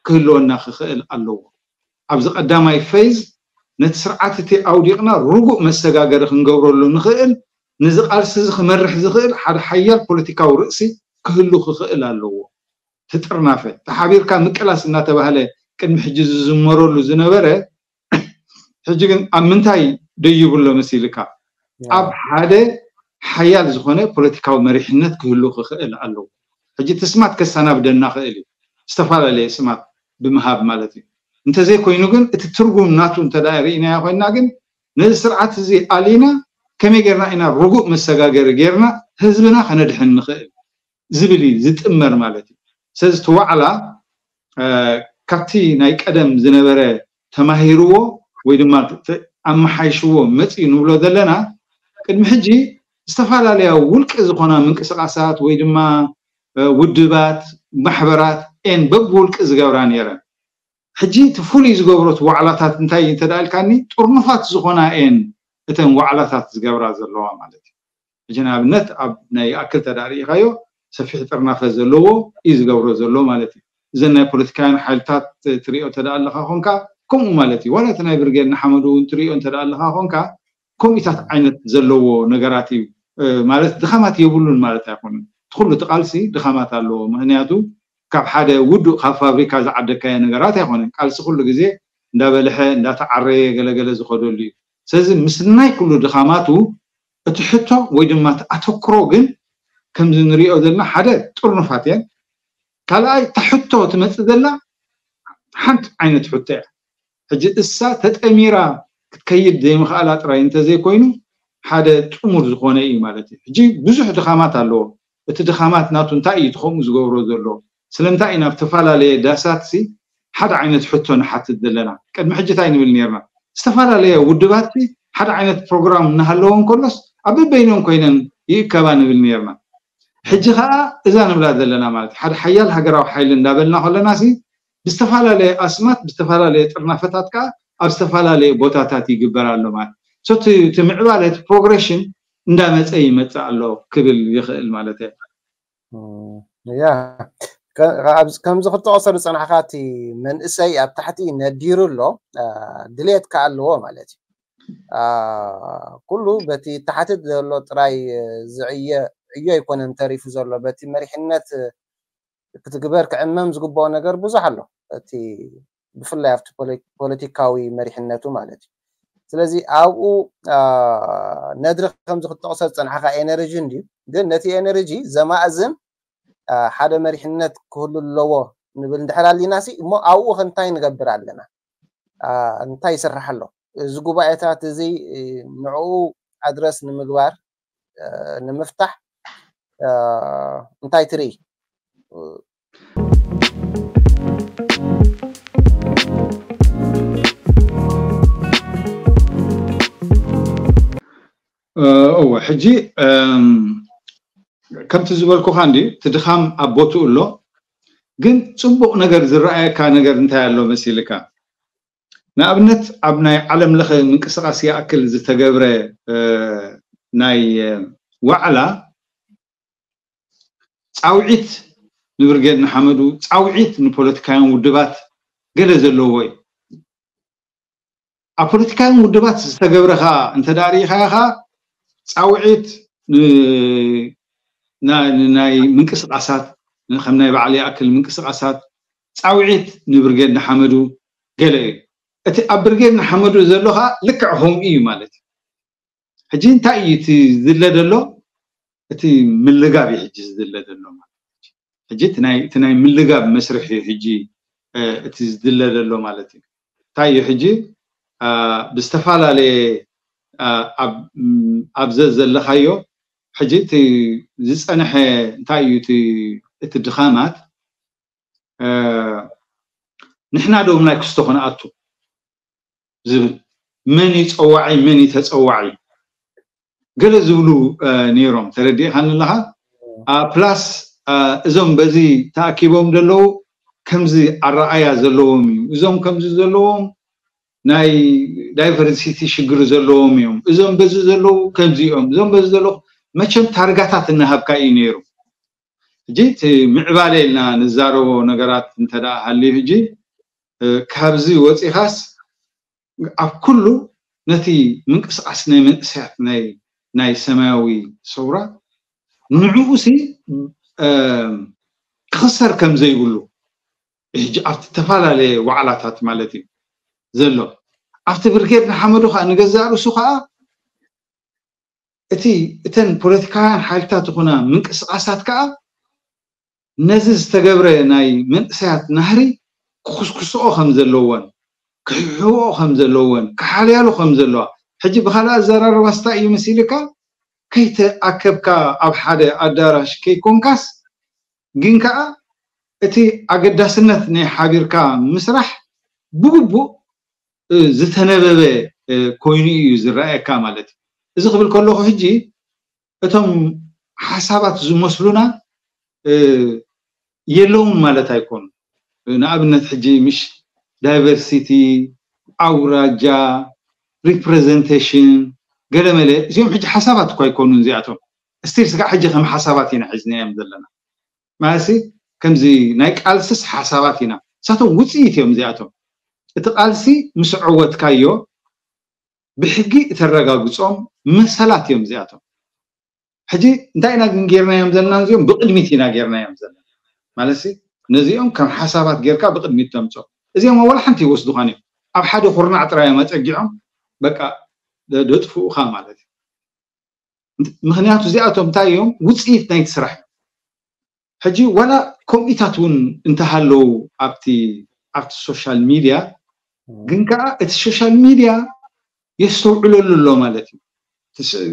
ክህልወና ክኽእል ኣለዎ። ኣብዚ ቀዳማይ ፌዝ ነቲ ስርዓት እቲ ኣውዲቕና ርጉእ መሰጋገሪ ክንገብረሉ ንኽእል፣ ነዚ ቃልሲ እዚ ክመርሕ ዝኽእል ሓደ ሓያል ፖለቲካዊ ርእሲ ክህሉ ክኽእል ኣለዎ። ትጥርናፈ ተሓቢርካ ምቅላስ እናተባህለ ቅድሚ ሕጂ ዝዝመረሉ ዝነበረ ሕጂ ግን ኣብ ምንታይ ደይቡ ኣሎ መሲልካ? ኣብ ሓደ ሓያል ዝኾነ ፖለቲካዊ መሪሕነት ክህሉ ክኽእል ኣለዎ። ሕጂ እቲ ስማት ከሰናብደና ክእል እዩ፣ ዝተፈላለየ ስማት ብምሃብ ማለት እዩ። እንተዘይኮይኑ ግን እቲ ትርጉም ናቱ እንተ ርኢናዮ ኮይንና ግን ነዚ ስርዓት እዚ ኣሊና ከመይ ጌርና ኢና ርጉእ መሰጋገሪ ጌርና ህዝብና ከነድሕን ንኽእል ዝብል እዩ ዝጥመር ማለት እዩ። ስለዚ እቲ ዋዕላ ካብቲ ናይ ቀደም ዝነበረ ተማሂርዎ ወይ ድማ ኣመሓይሽዎ መፅዩ ንብሎ ዘለና፣ ቅድሚ ሕጂ ዝተፈላለያ ውልቂ ዝኾና ምንቅስቃሳት ወይ ድማ ውድባት፣ ማሕበራት ኤን በብውልቂ ዝገብራ ነይረን። ሕጂ እቲ ፍሉይ ዝገብሮ እቲ ዋዕላታት እንታይ እዩ እንተደኣ ኢልካኒ፣ ጥርኑፋት ዝኾና እየን እተን ዋዕላታት ዝገብራ ዘለዋ ማለት እዩ። ሕጂ ንኣብነት ኣብ ናይ ይኣክል ተደኣ ርኢኻዮ ሰፊሕ ጥርናፈ ዘለዎ እዩ ዝገብሮ ዘሎ ማለት እዩ። እዘን ናይ ፖለቲካውያን ሓይልታት ትሪኦ እንተደኣ ኣለኻ ኾንካ ከምኡ ማለት እዩ። ዋላ እቲ ናይ ብርጌድ ንሓመዱ እውን ትሪኦ እንተደኣ ኣለኻ ኾንካ ከምኡታት ዓይነት ዘለዎ ነገራት እዩ ማለት ድኻማት የብሉን ማለት ኣይኮነን። እቲ ኩሉ እቲ ቃልሲ ድኻማት ኣለዎ። ምክንያቱ ካብ ሓደ ውዱእ ካብ ፋብሪካ ዝዓደካዮ ነገራት ኣይኮነን። ቃልሲ ኩሉ ግዜ እንዳበልሐ እንዳተዓረየ ገለገለ ዝኸደሉ እዩ። ስለዚ ምስ ናይ ኩሉ ድኻማቱ እቲ ሕቶ ወይ ድማ እቲ ኣተኩሮ ግን ከምዚ ንሪኦ ዘለና ሓደ ጥርኑፋት እየን። ካልኣይ እታ ሕቶ ትመፅእ ዘላ ሓንቲ ዓይነት ሕቶ እያ። ሕጂ እሳ ተጠሚራ ክትከይድ ዘይምኽኣላ ጥራይ እንተዘይኮይኑ ሓደ ጥሙር ዝኾነ እዩ ማለት እዩ። ሕጂ ብዙሕ ድኻማት ኣለዎ። እቲ ድኻማት ናቱ እንታይ እዩ እቲ ከምኡ ዝገብሮ ዘሎ? ስለምንታይ እዩ ናብ ዝተፈላለየ ዳሳትሲ ሓደ ዓይነት ሕቶ ንሓትት ዘለና? ቅድሚ ሕጂ እንታይ ንብል ነርና? ዝተፈላለየ ውድባትሲ ሓደ ዓይነት ፕሮግራም እናሃለዎ እንከሎስ ኣብ በበይኖም ኮይነን ይእከባ ንብል ነርና። ሕጂ ከዓ እዛ ንብላ ዘለና ማለት ሓደ ሓያል ሃገራዊ ሓይሊ እንዳበልና ከለናሲ ብዝተፈላለየ ኣስማት ብዝተፈላለየ ጥርናፈታት ከዓ ኣብ ዝተፈላለየ ቦታታት ይግበር ኣሎ ማለት እቲ ምዕባለ እቲ ፕሮግሬሽን እንዳመፀ ይመፅእ ኣሎ ክብል ይኽእል ማለት እየ። ያ ከምዚ ክትጠቕሶ ዝፀናሕካ እቲ መንእሰይ ኣብ ታሕቲ ነዲሩ ኣሎ፣ ድሌት ከዓ ኣለዎ ማለት እዩ። ኩሉ በቲ ታሕቲ ዘሎ ጥራይ ዝዕየ ዕዮ ኣይኮነን ተሪፉ ዘሎ፣ በቲ መሪሕነት ክትግበር ክዕመም ዝግብኦ ነገር ብዙሕ ኣሎ። እቲ ብፍላይ ኣብቲ ፖለቲካዊ መሪሕነቱ ማለት እዩ። ስለዚ ኣብኡ ነድሪ ከምዚ ክትጠቕሶ ዝፀናሕካ ኤነርጂ እንድዩ፣ ግን ነቲ ኤነርጂ ዘማእዝን ሓደ መሪሕነት ክህሉ ኣለዎ ንብል እንድሕር ኣሊናሲ እሞ ኣብኡ ከ እንታይ ንገብር ኣለና? እንታይ ይስራሕ ኣሎ? እዚ ጉባኤታት እዚ ንዕኡ ኣድረስ ንምግባር ንምፍታሕ እንታይ ትርኢ? እወ ሕጂ ከምቲ ዝበልኩኻ እንዲ እቲ ድኻም ኣብ ቦትኡ ኣሎ። ግን ፅቡቕ ነገር ዝረኣየካ ነገር እንታይ ኣሎ መሲልካ? ንኣብነት ኣብ ናይ ዓለም ለኸ ምንቅስቃስ ይኣክል ዝተገብረ ናይ ዋዕላ ፃውዒት ንብርጌድ ንሓመዱ፣ ፃውዒት ንፖለቲካውያን ውድባት ገለ ዘለዎ እዩ። ኣብ ፖለቲካውያን ውድባት ዝተገብረ ከዓ እንተ ደኣ ርኢኻዮ ከዓ ፃውዒት ናይ ምንቅስቃሳት ከም ናይ በዓል ይኣክል ምንቅስቃሳት ፃውዒት ንብርጌድ ንሓመዱ ገለ እዩ። እቲ ኣብ ብርጌድ ንሓመዱ ዘሎ ከዓ ልክዕ ከምኡ እዩ ማለት እዩ። ሕጂ እንታይ እዩ እቲ ዝድለ ዘሎ? እቲ ምልጋብ እዩ ሕጂ ዝድለ ዘሎ ማለት እዩ። ሕጂ እቲ ናይ ምልጋብ መስርሕ እዩ ሕጂ እቲ ዝድለ ዘሎ ማለት እዩ። እንታይ እዩ ሕጂ ብዝተፈላለየ ኣብ ዘ ዘለኻዮ ሕጂ እቲ ዝፀንሐ እንታይ እዩ እቲ ድኻማት ንሕና ዶ ናይ ክስቶ ክንኣቱ ዝብል መን እዩ ፀዋዒ መን እዩ ተፀዋዒ ገለ ዝብሉ ነይሮም። ተረዲእካኒ ኣለኻ? ፕላስ እዞም በዚ ተኣኪቦም ዘለዉ ከምዚ ኣረኣያ ዘለዎም እዩ። እዞም ከምዚ ዘለዎም ናይ ዳይቨርሲቲ ሽግር ዘለዎም እዮም። እዞም በዚ ዘለዉ ከምዚ እዮም። እዞም በዚ ዘለዉ መቸም ታርጋታት እናሃብካ እዩ ነይሩ። ሕጂ እቲ ምዕባለ ኢልና ንዛረቦ ነገራት እንተ ደኣ ሃልዩ ሕጂ ካብዚ ወፂኻስ ኣብ ኩሉ ነቲ ምንቅስቃስ ናይ መንእሰያት ናይ ናይ ሰማያዊ ሰውራ ንዕኡ ሲ ክኽሰር ከም ዘይብሉ ሕጂ ኣብቲ ዝተፈላለየ ዋዕላታት ማለት እዩ ዘሎ ኣብቲ ብርጌድ ንሓመዱ ከዓ ንገዛእ ርእሱ ከዓ እቲ እተን ፖለቲካውያን ሓይልታት ዝኾና ምንቅስቃሳት ከዓ ነዚ ዝተገብረ ናይ መንእሰያት ናህሪ ክኹስኩስኦ ከም ዘለወን ክሕሕብኦ ከም ዘለወን ክሓልያሉ ከም ዘለዋ ሕጂ ብካልእ ኣዘራርባ ስታይ እዩ መሲልካ ከይተኣከብካ ኣብ ሓደ ኣዳራሽ ከይኮንካስ ግን ከዓ እቲ ኣገዳስነት ናይ ሓቢርካ ምስራሕ ብግቡእ ዝተነበበ ኮይኑ እዩ ዝረኣየካ ማለት እዩ። እዚ ክብል ከለኹ ሕጂ እቶም ሓሳባት ዝመስሉና የለውን ማለት ኣይኮኑን። ንኣብነት ሕጂ ምሽ ዳይቨርሲቲ፣ ኣውራጃ፣ ሪፕሬዘንቴሽን፣ ገለመለ እዚኦም ሕጂ ሓሳባት እኳ ኣይኮኑን እዚኣቶም። ስቲል ስጋዕ ሕጂ ከም ሓሳባት ኢና ሒዝናዮም ዘለና። ማለትሲ ከምዚ ናይ ቃልስስ ሓሳባት ኢና። ንሳቶም ውፅኢት እዮም እዚኣቶም። እቲ ቃልሲ ምስ ዕወትካዮ ብሕጊ እተረጋግፆም መሰላት እዮም እዚኣቶም። ሕጂ እንታይ ኢና ግን ጌርናዮም ዘለና? እዚኦም ብቕድሚት ኢና ጌርናዮም ዘለና። ማለትሲ ነዚኦም ከም ሓሳባት ጌርካ ብቕድሚት ተምፅኦም። እዚኦም ወላ ሓንቲ ይወስዱኻን እዮም። ኣብ ሓደ ኩርናዕ ጥራይ እዮም ኣፀጊዖም በቃ ደጥፍኡኻ ማለት እዩ። ምክንያቱ እዚኣቶም እንታይ እዮም? ውፅኢት ናይቲ ስራሕ እዮም። ሕጂ ዋላ ከምኢታት እውን እንተሃለዉ ኣብቲ ኣብቲ ሶሻል ሚድያ ግን ከዓ እቲ ሶሻል ሚድያ የስተውዕለሉ ኣሎ ማለት እዩ።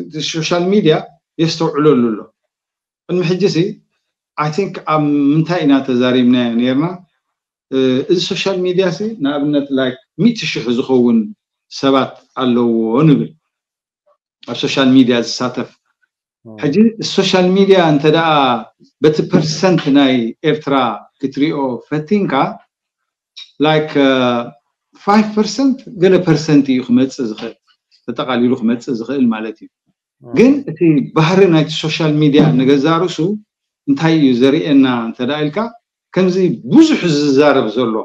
እቲ ሶሻል ሚድያ የስተውዕለሉ ኣሎ። ቅድሚ ሕጂ ሲ ኣይ ቲንክ ኣብ ምንታይ ኢና ተዛሪብናዮ ነርና? እዚ ሶሻል ሚድያ ሲ ንኣብነት ላይክ ሚእቲ ሽሕ ዝኸውን ሰባት ኣለዎ ንብል ኣብ ሶሻል ሚድያ ዝሳተፍ። ሕጂ ሶሻል ሚድያ እንተ ደኣ በቲ ፐርሰንት ናይ ኤርትራ ክትሪኦ ፈቲንካ ላይክ ፋይቭ ፐርሰንት ገለ ፐርሰንት እዩ ክመፅእ ዝኽእል፣ ተጠቓሊሉ ክመፅእ ዝኽእል ማለት እዩ። ግን እቲ ባህሪ ናይቲ ሶሻል ሚድያ ንገዛ ርእሱ እንታይ እዩ ዘርእየና እንተ ደኣ ኢልካ ከምዚ ብዙሕ ዝዛረብ ዘሎ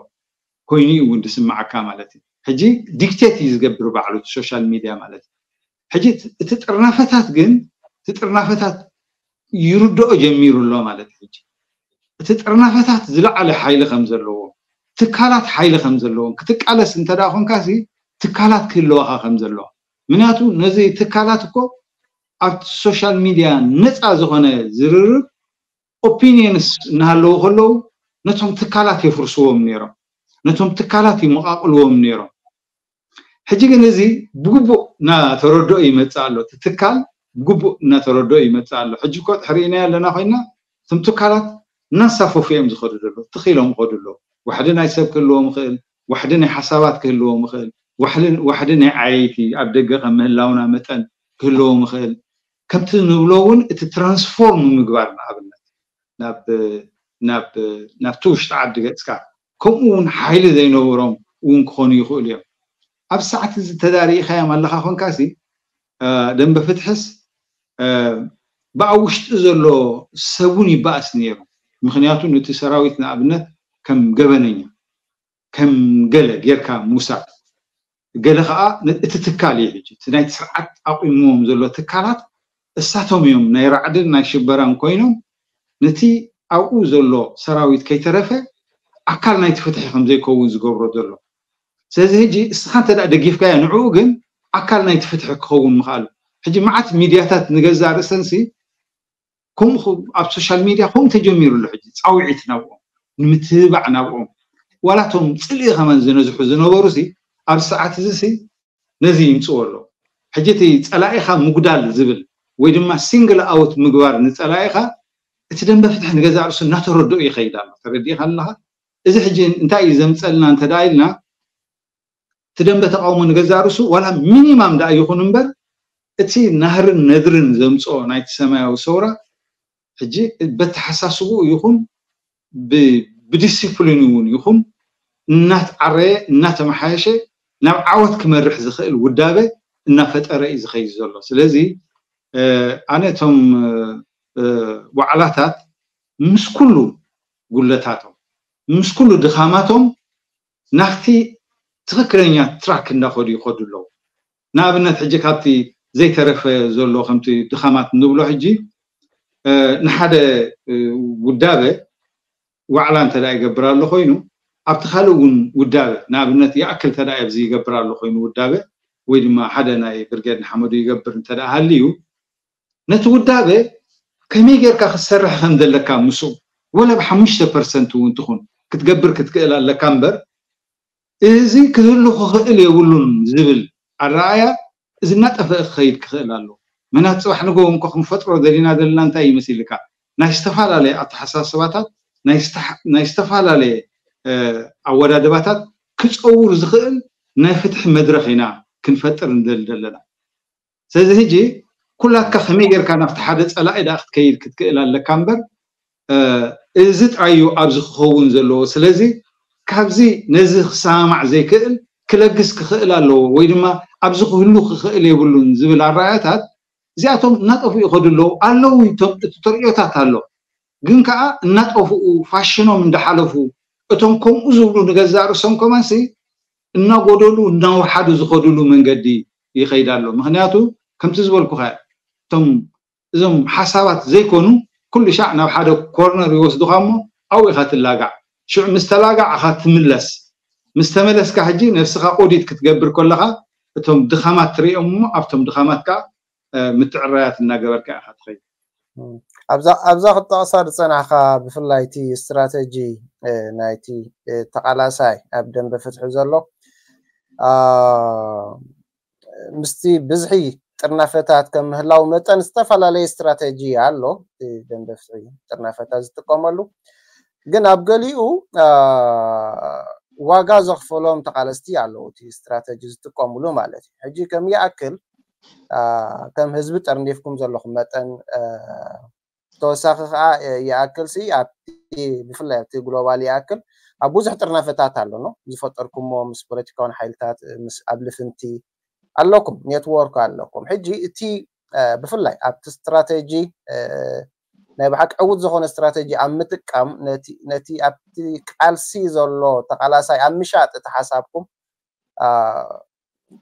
ኮይኑ እዩ እውን ዝስምዓካ ማለት እዩ። ሕጂ ዲክቴት እዩ ዝገብር ባዕሉ እቲ ሶሻል ሚድያ ማለት እዩ። ሕጂ እቲ ጥርናፈታት ግን እቲ ጥርናፈታት ይርድኦ ጀሚሩ ኣሎ ማለት እዩ። ሕጂ እቲ ጥርናፈታት ዝለዓለ ሓይሊ ከም ዘለዎ ትካላት ሓይሊ ከም ዘለዎም ክትቃለስ እንተ ደኣ ኮንካሲ ትካላት ክህልዋኻ ከም ዘለዋ ምክንያቱ ነዚ ትካላት እኮ ኣብቲ ሶሻል ሚድያ ነፃ ዝኾነ ዝርርብ ኦፒኒየንስ እናሃለዉ ከለዉ ነቶም ትካላት የፍርስዎም ነይሮም፣ ነቶም ትካላት ይመቓቕልዎም ነይሮም። ሕጂ ግን እዚ ብግቡእ እናተረድኦ ይመፅእ ኣሎ። እቲ ትካል ብግቡእ እናተረድኦ ይመፅእ ኣሎ። ሕጂ እኮ ርኢናዮ ኣለና ኮይና እቶም ትካላት እናንሳፈፉ እዮም ዝኸዱ ዘለዉ። ትኽ ኢሎም ይኸዱ ኣለዉ። ዋሕዲ ናይ ሰብ ክህልዎም ይኽእል፣ ዋሕዲ ናይ ሓሳባት ክህልዎም ይኽእል፣ ዋሕዲ ናይ ዓየይቲ ኣብ ደገ ከም ምህላውና መጠን ክህልዎም ይኽእል። ከምቲ ንብሎ እውን እቲ ትራንስፎርም ምግባር ንኣብነት ናብቲ ውሽጢ ዓዲ ገፅካ ከምኡ እውን ሓይሊ ዘይነበሮም እውን ክኾኑ ይኽእሉ እዮም። ኣብ ሰዓት እዚ ተዳሪኢኻዮም ኣለኻ ኮንካሲ ደንበ ፍትሕስ ብኣብ ውሽጢ ዘሎ ሰቡን ይበኣስ ነይሩ። ምክንያቱ ነቲ ሰራዊት ንኣብነት ከም ገበነኛ ከም ገለ ጌርካ ምውሳድ ገለ ከዓ እቲ ትካል እዩ ሕጂ እቲ ናይቲ ስርዓት ኣቑምዎም ዘሎ ትካላት እሳቶም እዮም ናይ ራዕድን ናይ ሽበራን ኮይኖም ነቲ ኣብኡ ዘሎ ሰራዊት ከይተረፈ ኣካል ናይቲ ፍትሒ ከም ዘይከውን ዝገብሮ ዘሎ። ስለዚ ሕጂ እስኻ እንተ ደጊፍካዮ ንዕኡ ግን ኣካል ናይቲ ፍትሒ ክኸውን ምኽኣሉ። ሕጂ መዓት ሚድያታት ንገዛእ ርእሰንሲ ከምኡ ኣብ ሶሻል ሚድያ ከምኡ ተጀሚሩ ኣሎ። ሕጂ ፃውዒት ናብኦም ንምትብባዕ ናብኦም ዋላቶም ፅልኢ ከማን ዝነዝሑ ዝነበሩ ሲ ኣብ ሰዓት እዚ ሲ ነዚ ይምፅዎ ኣለዉ። ሕጂ እቲ ፀላኢኻ ምጉዳል ዝብል ወይ ድማ ሲንግል ኣውት ምግባር ንፀላኢኻ እቲ ደንበ ፍትሒ ንገዛእ ርእሱ እናተረድኦ ይኸይድ ኣሎ። ተረዲእኻ ኣለኻ? እዚ ሕጂ እንታይ እዩ ዘምፀልና እንተ ደኣ ኢልና እቲ ደንበ ተቃውሞ ንገዛእ ርእሱ ዋላ ሚኒማም ደኣ ይኹን እምበር እቲ ናህርን ነድርን ዘምፅኦ ናይቲ ሰማያዊ ሰውራ ሕጂ በተሓሳስብኡ ይኹን ብዲሲፕሊን እውን ይኹን እናተዓረየ እናተመሓየሸ ናብ ዓወት ክመርሕ ዝኽእል ውዳበ እናፈጠረ እዩ ዝኸይድ ዘሎ። ስለዚ ኣነ እቶም ዋዕላታት ምስ ኩሉ ጉለታቶም ምስ ኩሉ ድኻማቶም ናብቲ ትኽክለኛ ትራክ እንዳኸዱ ይኸዱ ኣለዉ። ንኣብነት ሕጂ ካብቲ ዘይተረፈ ዘሎ ከምቲ ድኻማት ንብሎ ሕጂ ንሓደ ውዳበ ዋዕላ እንተ ይገብር ኣሎ ኮይኑ ኣብቲ ካልእ እውን ውዳበ ንኣብነት ይኣክል እንተ ኣብዚ ይገብር ኣሎ ኮይኑ ውዳበ ወይ ድማ ሓደ ናይ ብርጌድ ንሓመዱ ይገብር እንተ ሃልዩ ነቲ ውዳበ ከመይ ጌርካ ክትሰርሕ ከም ዘለካ ምስኡ ወላ ብሓሙሽተ ፐርሰንት እውን ትኹን ክትገብር ክትክእል ኣለካ እምበር እዚ ክህሉ ክኽእል የብሉን ዝብል ኣረኣያ እዚ እናጠፈአ ክኸይድ ክኽእል ኣሎ። ምክንያቱ ፅባሕ ንጎ እንኮ ክንፈጥሮ ዘሊና ዘለና እንታይ ይመስልካ ናይ ዝተፈላለየ ኣተሓሳስባታት ናይ ዝተፈላለየ ኣወዳድባታት ክፀውር ዝኽእል ናይ ፍትሒ መድረኽ ኢና ክንፈጥር ንደሊ ዘለና። ስለዚ ሕጂ ኩላትካ ከመይ ጌርካ ናብቲ ሓደ ጸላኢ ደኣ ክትከይድ ክትክእል ኣለካ እምበር፣ እዚ ጥራይ እዩ ኣብዚ ክኸውን ዘለዎ። ስለዚ ካብዚ ነዚ ክሰማማዕ ዘይክእል ክለግስ ክኽእል ኣለዎ፣ ወይ ድማ ኣብዚ ክህሉ ክኽእል የብሉን ዝብል ኣረኣእያታት እዚኣቶም እናጠፍኡ ይኸዱ ኣለዉ። ኣለዉ፣ እቶም እቲ ተርእዮታት ኣሎ፣ ግን ከኣ እናጠፍኡ ፋሽኖም እንዳሓለፉ እቶም ከምኡ ዝብሉ ንገዛእ ርእሶም ከማንሲ እናጎደሉ እናወሓዱ ዝኸዱሉ መንገዲ ይኸይድ ኣሎ። ምኽንያቱ ከምቲ ዝበልኩኻ እቶም እዞም ሓሳባት ዘይኮኑ ኩሉ ሻዕ ናብ ሓደ ኮርነር ይወስዱኻ እሞ ኣብኡ ኢኻ ትላጋዕ። ሽዑ ምስ ተላጋዕኻ ትምለስ። ምስ ተመለስካ ሕጂ ነብስኻ ኦዲት ክትገብር ከለኻ እቶም ድኻማት ትርእዮም እሞ ኣብቶም ድኻማት ከኣ ምትዕራያት እናገበርካ ኢኻ ትኸይድ። ኣብዛ ክጠቕሳ ዝፀናሕካ ብፍላይ እቲ ስትራተጂ ናይቲ ተቓላሳይ ኣብ ደንበ ፍትሒ ዘሎ ምስቲ ብዝሒ ጥርናፈታት ከም ምህላው መጠን ዝተፈላለየ ስትራተጂ ኣሎ። ደንበ ፍትሒ ጥርናፈታት ዝጥቀመሉ ግን ኣብ ገሊኡ ዋጋ ዘኽፈሎም ተቓለስቲ ኣለዉ እቲ ስትራተጂ ዝጥቀምሉ ማለት እዩ። ሕጂ ከም ይኣክል ከም ህዝቢ ጠርኒፍኩም ዘለኹም መጠን ተወሳኺ ከዓ ይኣክል ሲ ኣብቲ ብፍላይ ኣብቲ ግሎባል ይኣክል ኣብ ብዙሕ ጥርናፈታት ኣሎ ነው ዝፈጠርኩሞ ምስ ፖለቲካውን ሓይልታት ምስ ኣብ ልፍንቲ ኣለኩም ኔትወርክ ኣለኩም። ሕጂ እቲ ብፍላይ ኣብቲ ስትራተጂ ናይ ብሓቂ ዕዉት ዝኾነ ስትራተጂ ኣብ ምጥቃም ነቲ ኣብቲ ቃልሲ ዘሎ ተቓላሳይ ኣብ ምሻጥ እቲ ሓሳብኩም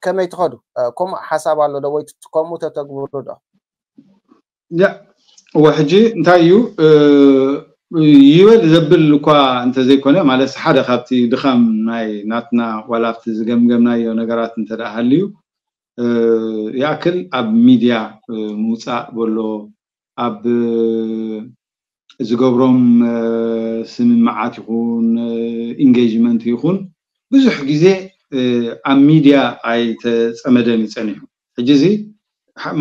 ከመይ ትኸዱ? ከምኡ ሓሳብ ኣሎ ዶ ወይ ከምኡ ተተግብሩ ዶ? እወ ሕጂ እንታይ እዩ ይበል ዘብል እኳ እንተዘይኮነ ማለት ሓደ ካብቲ ድኻም ናይ ናትና ዋላ ኣብቲ ዝገምገምናዮ ነገራት እንተ ደኣ ሃልዩ ይኣክል ኣብ ሚድያ ምውፃእ በሎ ኣብ ዝገብሮም ስምምዓት ይኹን ኢንጌጅመንት ይኹን ብዙሕ ግዜ ኣብ ሚድያ ኣይተፀመደን እዩ ፀኒሑ። ሕጂ እዚ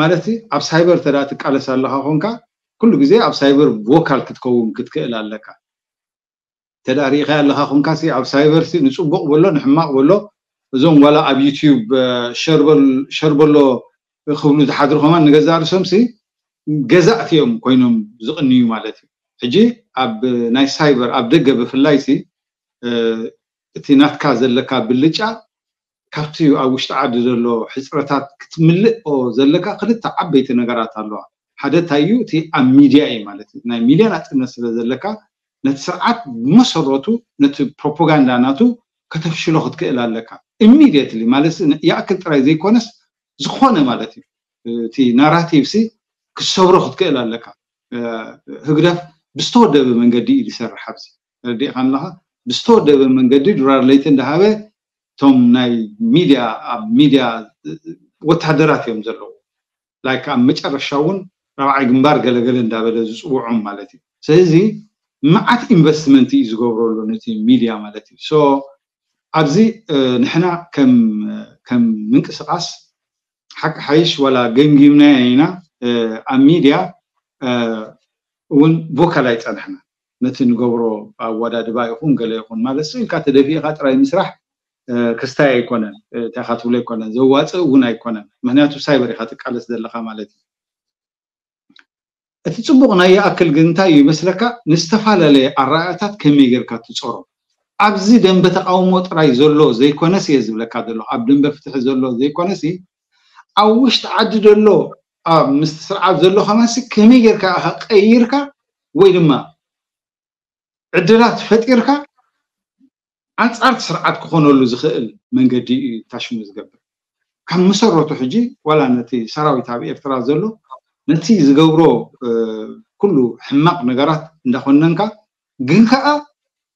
ማለት ኣብ ሳይበር ተዳ ትቃለስ ኣለካ ኮንካ ኩሉ ግዜ ኣብ ሳይበር ቮካል ክትከውን ክትክእል ኣለካ። ተዳ ርኢኻ ኣለካ ኮንካ ኣብ ሳይበር ንፅቡቅ በሎ ንሕማቅ በሎ እዞም ዋላ ኣብ ዩቲዩብ ሸርበሎ ክብሉ ዝሓድሩ ከማን ንገዛእ ርእሶም ገዛእቲ እዮም ኮይኖም ዝቕንዩ ማለት እዩ። ሕጂ ኣብ ናይ ሳይበር ኣብ ደገ ብፍላይ እቲ ናትካ ዘለካ ብልጫ ካብቲ ኣብ ውሽጢ ዓዲ ዘሎ ሕፅረታት ክትምልኦ ዘለካ ክልተ ዓበይቲ ነገራት ኣለዋ። ሓደ እንታይ እዩ እቲ ኣብ ሚድያ እዩ ማለት እዩ። ናይ ሚድያ ናፅነት ስለ ዘለካ ነቲ ስርዓት ብመሰረቱ ነቲ ፕሮፓጋንዳ ናቱ ከተፍሽሎ ክትክእል ኣለካ ኢሚድየትሊ ማለት ይኣክል ጥራይ ዘይኮነስ ዝኾነ ማለት እዩ እቲ ናራቲቭ ሲ ክትሰብሮ ክትክእል ኣለካ። ህግደፍ ብዝተወደበ መንገዲ እዩ ዝሰርሕ ኣብዚ ተረዲእካ ኣለካ። ብዝተወደበ መንገዲ ድራር ለይቲ እንዳሃበ እቶም ናይ ሚድያ ኣብ ሚድያ ወታደራት እዮም ዘለዉ። ላይክ ኣብ መጨረሻ እውን ራብዓይ ግንባር ገለገለ እንዳበለ ዝፅውዖም ማለት እዩ። ስለዚ መዓት ኢንቨስትመንት እዩ ዝገብረሉ ነቲ ሚድያ ማለት እዩ። ሶ ኣብዚ ንሕና ከም ምንቅስቃስ ሓቂ ሓይሽ ዋላ ገምጊምናዮ ኢና ኣብ ሚድያ እውን ቮካል ኣይፀናሕና ነቲ ንገብሮ ኣወዳድባ ይኹን ገለ ይኹን ማለት ኢልካ ተደፊእካ ጥራይ ምስራሕ ክስታይ ኣይኮነን። እንታይ ኢኻ ትብሎ ኣይኮነን፣ ዘዋፅእ እውን ኣይኮነን። ምክንያቱ ሳይበር ኢኻ ትቃለስ ዘለካ ማለት እዩ። እቲ ፅቡቕ ናይ ይኣክል ግን እንታይ እዩ ይመስለካ፣ ንዝተፈላለየ ኣረኣእያታት ከመይ ጌርካ ትፀሮ። ኣብዚ ደንበ ተቃውሞ ጥራይ ዘሎ ዘይኮነስ እየ ዝብለካ ዘሎ፣ ኣብ ደንበ ፍትሒ ዘሎ ዘይኮነሲ ኣብ ውሽጢ ዓዲ ዘሎ ኣብ ምስቲ ስርዓት ዘሎ ከማንሲ ከመይ ጌርካ ኢኻ ቀይርካ ወይ ድማ ዕድላት ፈጢርካ ኣንጻር እቲ ስርዓት ክኾነሉ ዝኽእል መንገዲ እዩ ታሽሙ ዝገብር። ካብ መሰረቱ ሕጂ ዋላ ነቲ ሰራዊት ኣብ ኤርትራ ዘሎ ነቲ ዝገብሮ ኩሉ ሕማቕ ነገራት እንዳኾነንካ ግን ከኣ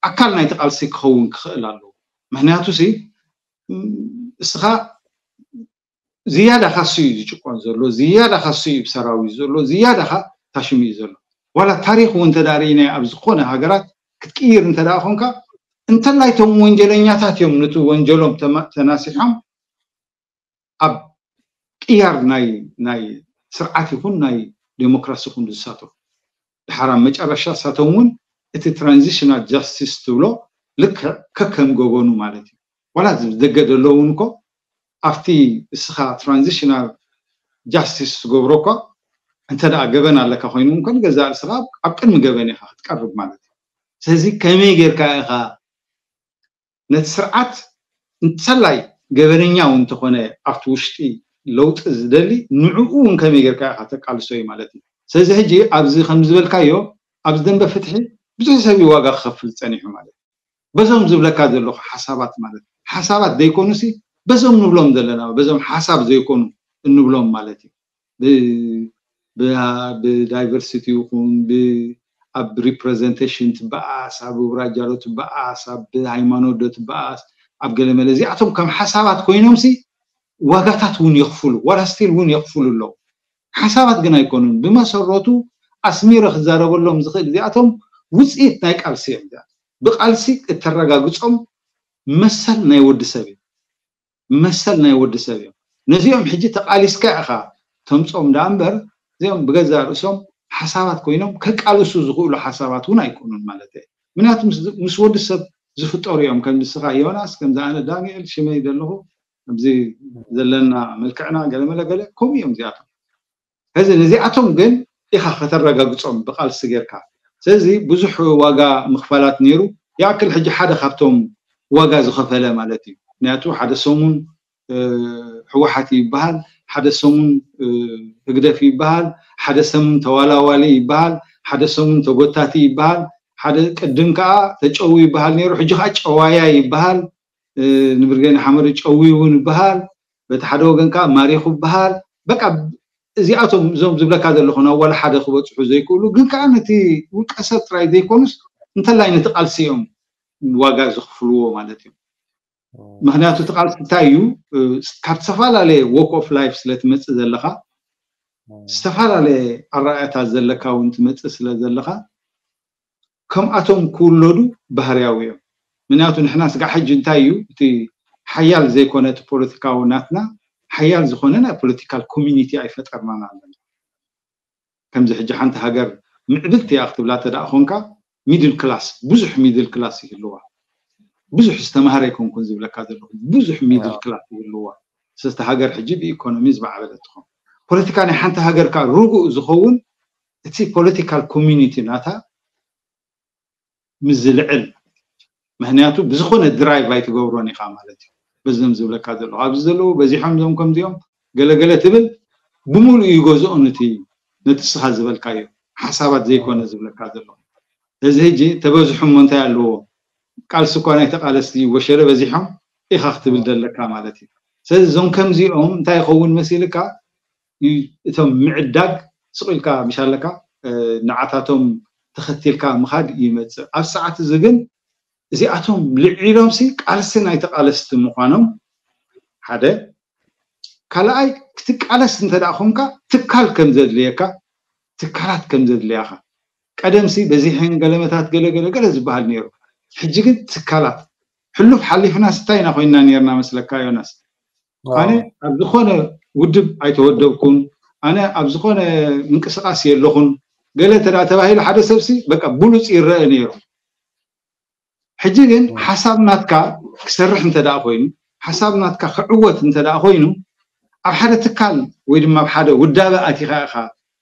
ኣካል ናይቲ ቃልሲ ክኸውን ክኽእል ኣለዎ። ምክንያቱ ሲ እስኻ ዝያዳ ካሱ እዩ ዝጭቆን ዘሎ፣ ዝያዳ ካሱ እዩ ብሰራዊት ዘሎ፣ ዝያዳ ካ ታሽሙ እዩ ዘሎ። ዋላ ታሪክ እውን እንተዳ ርኢናዮ ኣብ ዝኾነ ሃገራት ክትቅይር እንተዳ ኮንካ እንተላይ እቶም ወንጀለኛታት እዮም ነቲ ወንጀሎም ተናሲሖም ኣብ ቅያር ናይ ናይ ስርዓት ይኹን ናይ ዴሞክራሲ ይኹን ዝሳተፉ። ድሓር ኣብ መጨረሻ እሳቶም እውን እቲ ትራንዚሽናል ጃስቲስ ትብሎ ልክዕ ከከም ገበኑ ማለት እዩ። ዋላ ደገ ዘሎ እውን እኮ ኣብቲ እስኻ ትራንዚሽናል ጃስቲስ ትገብሮ እኳ እንተ ደኣ ገበን ኣለካ ኮይኑ እንኮ ንገዛእ ርእስኻ ኣብ ቅድሚ ገበን ኢኻ ክትቀርብ ማለት እዩ። ስለዚ ከመይ ጌርካ ኢኻ ነቲ ስርዓት እንተላይ ገበነኛ እውን እንተኾነ ኣብቲ ውሽጢ ለውጢ ዝደሊ ንዕኡ እውን ከመይ ጌርካ ኢኻ ተቃልሶ እዩ ማለት እዩ። ስለዚ ሕጂ ኣብዚ ከም ዝበልካዮ ኣብዚ ደንበ ፍትሒ ብዙሕ ሰብ እዩ ዋጋ ክኸፍል ጸኒሑ ማለት እዩ። በዞም ዝብለካ ዘለኹ ሓሳባት ማለት ሓሳባት ዘይኮኑሲ በዞም ንብሎም ዘለና በዞም ሓሳብ ዘይኮኑ እንብሎም ማለት እዩ። ብዳይቨርሲቲ ይኹን ኣብ ሪፕሬዘንቴሽን ትበኣስ ኣብ ውራጃ ዶ ትበኣስ ኣብ ሃይማኖት ዶ ትበኣስ ኣብ ገለመለ እዚኣቶም ከም ሓሳባት ኮይኖምሲ ዋጋታት እውን የኽፍሉ ዋላ ስቲል እውን የኽፍሉ ኣለዉ። ሓሳባት ግን ኣይኮኑን። ብመሰረቱ ኣስሚረ ክዛረበሎም ዝኽእል እዚኣቶም ውፅኢት ናይ ቃልሲ እዮም። ብቃልሲ እተረጋግፆም መሰል ናይ ወዲ ሰብ እዩ። መሰል ናይ ወዲ ሰብ እዮም። ነዚኦም ሕጂ ተቃሊስካ ኢኻ ተምፆም ደኣ እምበር እዚኦም ብገዛ ርእሶም ሓሳባት ኮይኖም ከቃልሱ ዝኽእሉ ሓሳባት እውን ኣይኮኑን ማለት እዩ። ምክንያቱ ምስ ወዲ ሰብ ዝፍጠሩ እዮም። ከም ንስኻ ዮናስ ከምዚ ኣነ ዳንኤል ሽመይ ዘለኹ ኣብዚ ዘለና መልክዕና ገለመለ ገለ ከምኡ እዮም እዚኣቶም። ሕዚ ነዚኣቶም ግን ኢኻ ከተረጋግፆም ብቃልሲ ጌርካ። ስለዚ ብዙሕ ዋጋ ምኽፋላት ነይሩ። ይኣክል ሕጂ ሓደ ካብቶም ዋጋ ዝኸፈለ ማለት እዩ። ምክንያቱ ሓደ ሰሙን ህወሓት ይበሃል፣ ሓደ ሰሙን ህግደፍ ይበሃል፣ ሓደ ሰሙን ተዋላዋሊ ይበሃል፣ ሓደ ሰሙን ተጎታቲ ይበሃል፣ ሓደ ቅድም ከዓ ተጨዊ ይበሃል ነይሩ፣ ሕጂ ከዓ ጨዋያ ይበሃል። ንብርጌን ሓመዱ ጨዊ እውን ይበሃል። በቲ ሓደ ወገን ከዓ ማሪኹ ይበሃል። በቃ እዚኣቶም እዞም ዝብለካ ዘለኹ ናብ ዋላ ሓደ ክበፅሑ ዘይክእሉ ግን ከዓ ነቲ ውልቀ ሰብ ጥራይ ዘይኮኑስ እንተላይ ነቲ ቃልሲ እዮም ዋጋ ዝኽፍልዎ ማለት እዩ። ምክንያቱ እቲ ቃልሲ እንታይ እዩ? ካብ ዝተፈላለየ ዎክ ኦፍ ላይፍ ስለትመፅእ ዘለካ ዝተፈላለየ ኣረኣእያታት ዘለካ እውን ትመፅእ ስለ ዘለካ ከምኣቶም ክውለዱ ባህርያዊ እዮም። ምክንያቱ ንሕና ስጋዕ ሕጂ እንታይ እዩ እቲ ሓያል ዘይኮነ እቲ ፖለቲካዊ ናትና ሓያል ዝኾነ ናይ ፖለቲካል ኮሚኒቲ ኣይፈጠርናን ኣለና። ከምዚ ሕጂ ሓንቲ ሃገር ምዕብልቲ እያ ክትብላ ተደኣ ኮንካ ሚድል ክላስ ብዙሕ ሚድል ክላስ ይህልዋ። ብዙሕ ዝተማህረ ኣይኮንኩን ዝብለካ ዘለኹ ብዙሕ ሚድል ክላስ ይህልዋ። ስለስተ ሃገር ሕጂ ብኢኮኖሚ ዝበዓበለት ትኾን። ፖለቲካ ናይ ሓንቲ ሃገር ከዓ ርጉእ ዝኸውን እቲ ፖለቲካል ኮሚኒቲ ናታ ምስ ዝልዕል ምክንያቱ ብዝኾነ ድራይቭ ኣይትገብሮን ኢኻ ማለት እዩ። በዞም ዝብለካ ዘለኹ ኣብዚ ዘለዉ በዚሖም ዞም ከምዚኦም ገለገለ ትብል ብምሉእ ይገዝኦ ነቲ ነቲ ስኻ ዝበልካዮ ሓሳባት ዘይኮነ ዝብለካ ዘለኹ። እዚ ሕጂ ተበዝሑ እሞ እንታይ ኣለዎ ቃልሲ እኳ ናይ ተቃለስቲ ወሸለ በዚሖም ኢኻ ክትብል ዘለካ ማለት እዩ። ስለዚ እዞም ከምዚኦም እንታይ ይኸውን መሲልካ እቶም ምዕዳግ ስቕ ኢልካ ምሽ ኣለካ ንዓታቶም ተኸቲልካ ምኻድ ይመፅእ። ኣብ ሰዓት እዚ ግን እዚኣቶም ልዒሎም ሲ ቃልሲ ናይ ተቃለስቲ ምዃኖም ሓደ ካልኣይ ክትቃለስ እንተ ደኣ ኮንካ ትካል ከም ዘድልየካ ትካላት ከም ዘድልያኻ ቀደም ሲ በዚሐን ገለመታት ገለ ገለ ገለ ዝበሃል ነይሩ። ሕጂ ግን ትካላት ሕሉፍ ሓሊፍና ስታይ ኢና ኮይና ነርና መስለካ ዮናስ። ኣነ ኣብ ዝኾነ ውድብ ኣይተወደብኩን፣ ኣነ ኣብ ዝኾነ ምንቅስቃስ የለኹን ገለ እንተ ተባሂሉ ሓደ ሰብሲ በቃ ብሉፅ ይረአ ነይሩ። ሕጂ ግን ሓሳብ ናትካ ክሰርሕ እንተ ደኣ ኮይኑ፣ ሓሳብ ናትካ ክዕወት እንተ ደኣ ኮይኑ ኣብ ሓደ ትካል ወይ ድማ ኣብ ሓደ ውዳበ ኣቲኻ ኢኻ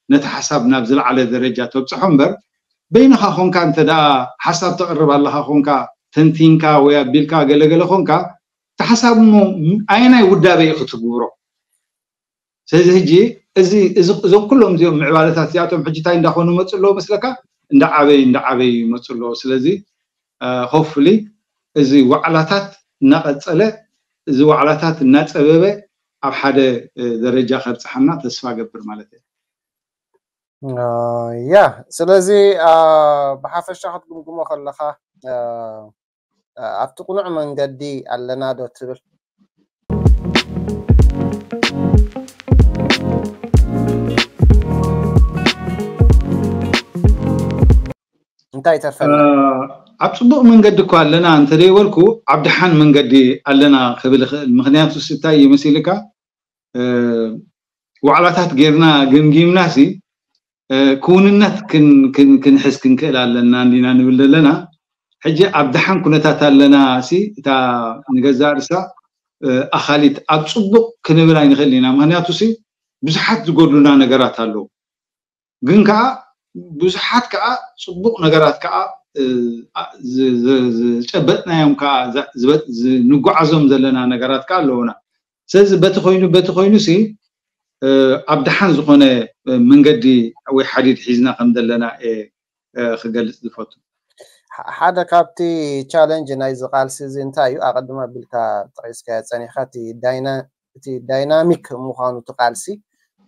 ነቲ ሓሳብ ናብ ዝለዓለ ደረጃ ተብፅሖ እምበር በይንኻ ኮንካ እንተ ደኣ ሓሳብ ተቕርብ ኣለኻ ኮንካ ተንቲንካ ወይ ኣቢልካ ገለገለ ኮንካ እቲ ሓሳብ እሞ ኣየናይ ውዳበ እዩ ክትግብሮ? ስለዚ ሕጂ እዚ እዞም ኩሎም እዚኦም ምዕባለታት እዚኣቶም ሕጂ እንታይ እንዳኾኑ ይመፁ ኣለዉ መስለካ? እንዳዓበዩ እንዳዓበዩ ይመፁ ኣለዉ። ስለዚ ሆፍሊ እዚ ዋዕላታት እናቐፀለ እዚ ዋዕላታት እናፀበበ ኣብ ሓደ ደረጃ ከብፅሓና ተስፋ ገብር ማለት እየ። ያ ስለዚ ብሓፈሻ ክትግምግሞ ከለካ ኣብቲ ቅኑዕ መንገዲ ኣለና ዶ ትብል? እንታይ ይተርፈና? ኣብ ፅቡቅ መንገዲ እኮ ኣለና እንተደይበልኩ ኣብ ደሓን መንገዲ ኣለና ክብል ይኽእል። ምክንያቱ እንታይ እዩ መሲልካ ዋዕላታት ጌርና ገምጊምና ሲ ክውንነት ክንሕዝ ክንክእል ኣለና እንዲና ንብል ዘለና። ሕጂ ኣብ ደሓን ኩነታት ኣለና ሲ እታ ንገዛእ ርእሳ ኣኻሊት ኣብ ፅቡቕ ክንብል ኣይንኽእል ኢና። ምክንያቱ ሲ ብዙሓት ዝጎድሉና ነገራት ኣለዉ። ግን ከዓ ብዙሓት ከዓ ፅቡቕ ነገራት ከዓ ዝጨበጥናዮም ከዓ ንጓዓዞም ዘለና ነገራት ከዓ ኣለዉና። ስለዚ በቲ ኮይኑ በቲ ኮይኑ ሲ ኣብ ደሓን ዝኾነ መንገዲ ወይ ሓዲድ ሒዝና ከም ዘለና ክገልፅ ዝፈቱ። ሓደ ካብቲ ቻለንጅ ናይዚ ቃልሲ እዚ እንታይ እዩ? ኣቐድም ኣቢልካ ጠቒስካዮ ፀኒሕካ እቲ ዳይናሚክ ምዃኑ እቲ ቃልሲ፣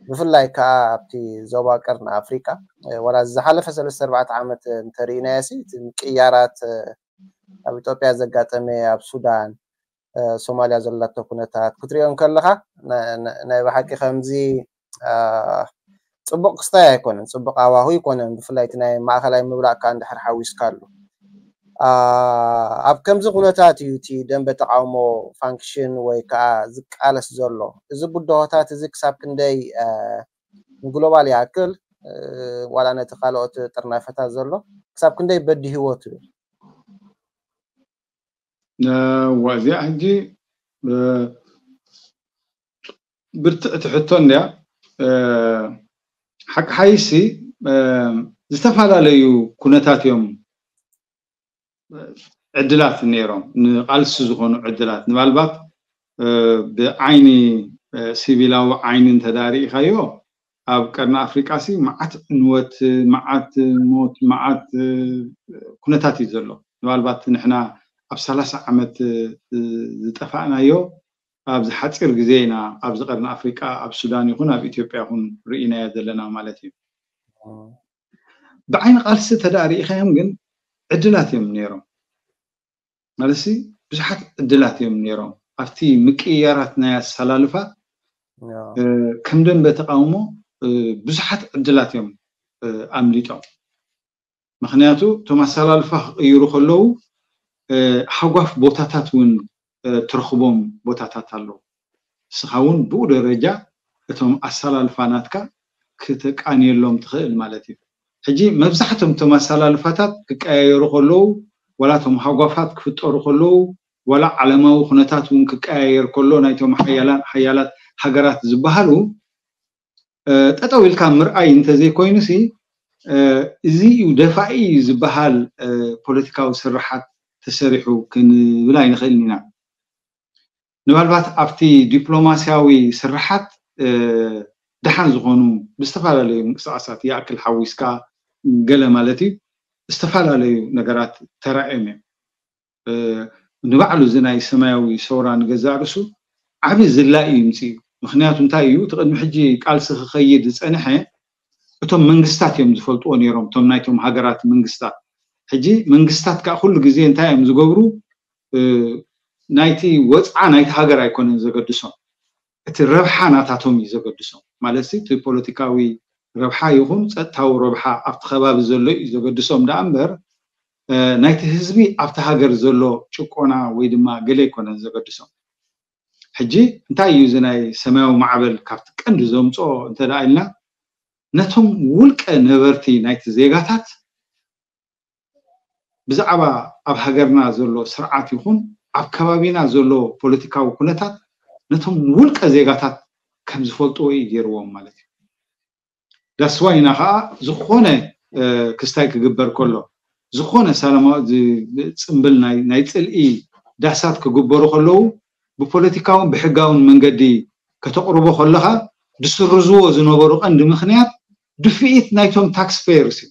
ብፍላይ ከዓ ኣብቲ ዞባ ቀርኒ ኣፍሪቃ ዋላ ዝሓለፈ ሰለስተ ኣርባዕተ ዓመት እንተርኢናዮ ሲ እቲ ምቅያራት ኣብ ኢትዮጵያ ዘጋጠመ፣ ኣብ ሱዳን ሶማልያ ዘላቶ ኩነታት ክትሪኦ እንከለካ ናይ ብሓቂ ከምዚ ፅቡቅ ክስታይ ኣይኮነን፣ ፅቡቅ ኣዋሁ ኣይኮነን። ብፍላይ እቲ ናይ ማእኸላይ ምብላዕ ከዓ እንድሕር ሓዊስካሉ ኣብ ከምዚ ኩነታት እዩ እቲ ደንበ ተቃውሞ ፋንክሽን ወይ ከዓ ዝቃለስ ዘሎ። እዚ ብድሆታት እዚ ክሳብ ክንደይ ንግሎባል ይኣክል ዋላ ነቲ ካልኦት ጥርናፈታት ዘሎ ክሳብ ክንደይ በዲህዎ ትብል? እዚኣ ሕጂ ብርትዕቲ ሕቶ እንድያ። ሓቂ ሓይሲ ዝተፈላለዩ ኩነታት እዮም ዕድላት ነይሮም፣ ንቃልሲ ዝኾኑ ዕድላት። ንባልባት ብዓይኒ ሲቪላዊ ዓይኒ እንተዳርኢኻዮ ኣብ ቀርኒ ኣፍሪቃ ሲ መዓት ዕንወት፣ መዓት ሞት፣ መዓት ኩነታት እዩ ዘሎ። ንባልባት ንሕና ኣብ ሰላሳ ዓመት ዝጠፋእናዮ ኣብዚ ሓፂር ግዜ ኢና ኣብዚ ቀርኒ ኣፍሪቃ ኣብ ሱዳን ይኹን ኣብ ኢትዮጵያ ይኹን ርኢናዮ ዘለና ማለት እዩ። ብዓይኒ ቃልሲ ተዳርኢኻዮም ግን ዕድላት እዮም ነይሮም። ማለት ብዙሓት ዕድላት እዮም ነይሮም። ኣብቲ ምቅያራት ናይ ኣሰላልፋ ከም ደንበ ተቃውሞ ብዙሓት ዕድላት እዮም ኣምሊጦም። ምክንያቱ እቶም ኣሰላልፋ ክቅይሩ ከለዉ ሃጓፍ ቦታታት እውን ትረኽቦም ቦታታት ኣለዉ። እስኻ እውን ብኡ ደረጃ እቶም ኣሰላልፋ ናትካ ክተቃንየሎም ትኽእል ማለት እዩ። ሕጂ መብዛሕቶም እቶም ኣሰላልፋታት ክቀያየሩ ከለዉ ዋላ እቶም ሃጓፋት ክፍጠሩ ከለዉ ዋላ ዓለማዊ ኩነታት እውን ክቀያየር ከሎ ናይቶም ሓያላት ሃገራት ዝበሃሉ ጠጠው ኢልካ ምርኣይ እንተዘይኮይኑ ሲ እዚ እዩ ደፋኢ ዝበሃል ፖለቲካዊ ስርሓት ተሰሪሑ ክንብል ኣይንኽእልን ኢና። ምናልባት ኣብቲ ዲፕሎማስያዊ ስርሓት ደሓን ዝኾኑ ብዝተፈላለዩ ምንቅስቃሳት ይኣክል ሓዊስካ ገለ ማለት እዩ ዝተፈላለዩ ነገራት ተራእዮም እዮም። ንባዕሉ እዚ ናይ ሰማያዊ ሰውራ ንገዛእ ርእሱ ዓቢ ዝላኢ ይምፅእ እዩ። ምክንያቱ እንታይ እዩ? እቲ ቅድሚ ሕጂ ቃልሲ ክኸይድ ዝፀንሐ እቶም መንግስታት እዮም ዝፈልጥዎ ነይሮም፣ እቶም ናይቶም ሃገራት መንግስታት። ሕጂ መንግስታት ከዓ ኩሉ ግዜ እንታይ እዮም ዝገብሩ? ናይቲ ወፅዓ ናይቲ ሃገር ኣይኮነን ዘገድሶም፣ እቲ ረብሓ ናታቶም እዩ ዘገድሶም። ማለት እቲ ፖለቲካዊ ረብሓ ይኹን ፀጥታዊ ረብሓ ኣብቲ ከባቢ ዘሎ እዩ ዘገድሶም ደኣ እምበር ናይቲ ህዝቢ ኣብቲ ሃገር ዘሎ ጭቆና ወይ ድማ ገለ ኣይኮነን ዘገድሶም። ሕጂ እንታይ እዩ እዚ ናይ ሰማያዊ ማዕበል ካብቲ ቀንዲ ዘምፅኦ እንተ ደኣ ኢልና ነቶም ውልቀ ነበርቲ ናይቲ ዜጋታት ብዛዕባ ኣብ ሃገርና ዘሎ ስርዓት ይኹን ኣብ ከባቢና ዘሎ ፖለቲካዊ ኩነታት ነቶም ውልቀ ዜጋታት ከም ዝፈልጥዎ እዩ ገይርዎም ማለት እዩ። ዳስዋይና ከዓ ዝኾነ ክስታይ ክግበር ከሎ ዝኾነ ሰላማዊ ፅምብል ናይ ፅልኢ ዳሳት ክግበሩ ከለዉ ብፖለቲካውን ብሕጋውን መንገዲ ከተቕርቦ ከለኻ ዝስርዝዎ ዝነበሩ ቀንዲ ምክንያት ድፍኢት ናይቶም ታክስ ፔየርስ እዩ።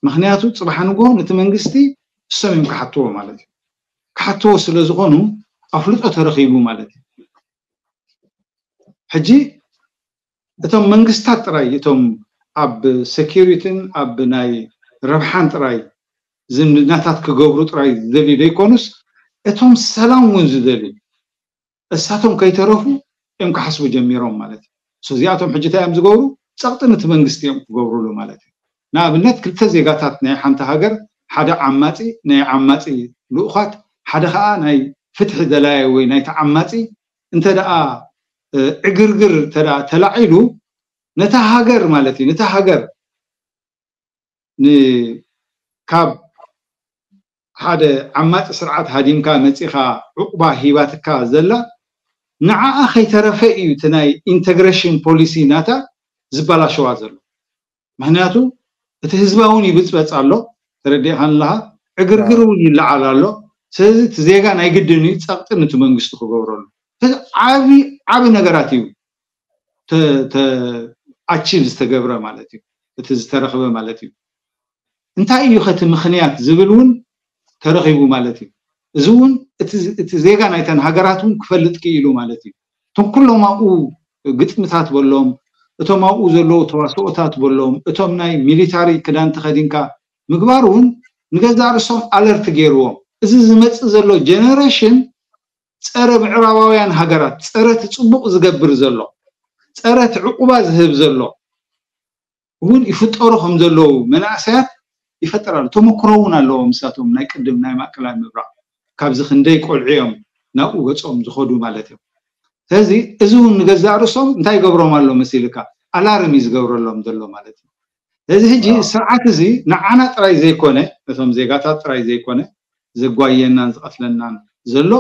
ምክንያቱ ፅባሕ ንግሆ ነቲ መንግስቲ እሶም እዮም ክሓትዎ ማለት እዩ። ክሓትዎ ስለ ዝኾኑ ኣፍልጦ ተረኺቡ ማለት እዩ። ሕጂ እቶም መንግስታት ጥራይ እቶም ኣብ ሴኪሪቲን ኣብ ናይ ረብሓን ጥራይ ዝምድናታት ክገብሩ ጥራይ ዝደልዩ ዘይኮኑስ እቶም ሰላም እውን ዝደልዩ እሳቶም ከይተረፉ እዮም ክሓስቡ ጀሚሮም ማለት እዩ። እዚኣቶም ሕጂ እንታይ እዮም ዝገብሩ? ፀቕጢ ነቲ መንግስቲ እዮም ክገብሩሉ ማለት እዩ። ንኣብነት ክልተ ዜጋታት ናይ ሓንቲ ሃገር ሓደ ዓማፂ ናይ ዓማፂ ልኡኻት ሓደ ከዓ ናይ ፍትሒ ደላየ ወይ ናይ ተዓማፂ እንተ ደኣ ዕግርግር እንተ ደኣ ተላዒሉ ነታ ሃገር ማለት እዩ ነታ ሃገር ካብ ሓደ ዓማፂ ስርዓት ሃዲምካ መፂኻ ዑቕባ ሂባትካ ዘላ ንዓኣ ከይተረፈ እዩ እቲ ናይ ኢንተግሬሽን ፖሊሲ ናታ ዝበላሸዋ ዘሎ። ምክንያቱ እቲ ህዝባ እውን ይብፅበፅ ኣሎ፣ ተረዲእካ ኣለካ፣ ዕግርግር እውን ይለዓል ኣሎ። ስለዚ እቲ ዜጋ ናይ ግድን እዩ ፀቕጢ ነቲ መንግስቲ ክገብረሉ። ስለዚ ዓቢ ዓቢ ነገራት እዩ ኣቺቭ ዝተገብረ ማለት እዩ፣ እቲ ዝተረኽበ ማለት እዩ። እንታይ እዩ ከቲ ምክንያት ዝብል እውን ተረኺቡ ማለት እዩ። እዚ እውን እቲ ዜጋ ናይተን ሃገራት እውን ክፈልጥ ክኢሉ ማለት እዩ። እቶም ኩሎም ኣብኡ ግጥምታት በሎም፣ እቶም ኣብኡ ዘለዉ ተዋስኦታት በሎም፣ እቶም ናይ ሚሊታሪ ክዳን ተኸዲንካ ምግባር እውን ንገዛእ ርእሶም ኣለርት ገይርዎም። እዚ ዝመፅእ ዘሎ ጀነሬሽን ፀረ ምዕራባውያን ሃገራት፣ ፀረ እቲ ፅቡቕ ዝገብር ዘሎ፣ ፀረ እቲ ዕቁባ ዝህብ ዘሎ እውን ይፍጠሩ ከም ዘለዉ መናእሰያት ይፈጥር ኣሎ። ተመክሮ እውን ኣለዎም ንሳቶም ናይ ቅድም ናይ ማእከላይ ምብራቕ ካብዚ ክንደይ ቆልዑ እዮም ናብኡ ገጾም ዝኸዱ ማለት እዮም። ስለዚ እዚ እውን ንገዛእ ርእሶም እንታይ ይገብሮም ኣሎ መሲልካ? ኣላርም እዩ ዝገብረሎም ዘሎ ማለት እዩ። ስለዚ ሕጂ ስርዓት እዚ ንዓና ጥራይ ዘይኮነ፣ ነቶም ዜጋታት ጥራይ ዘይኮነ ዘጓየናን ዝቐትለናን ዘሎ፣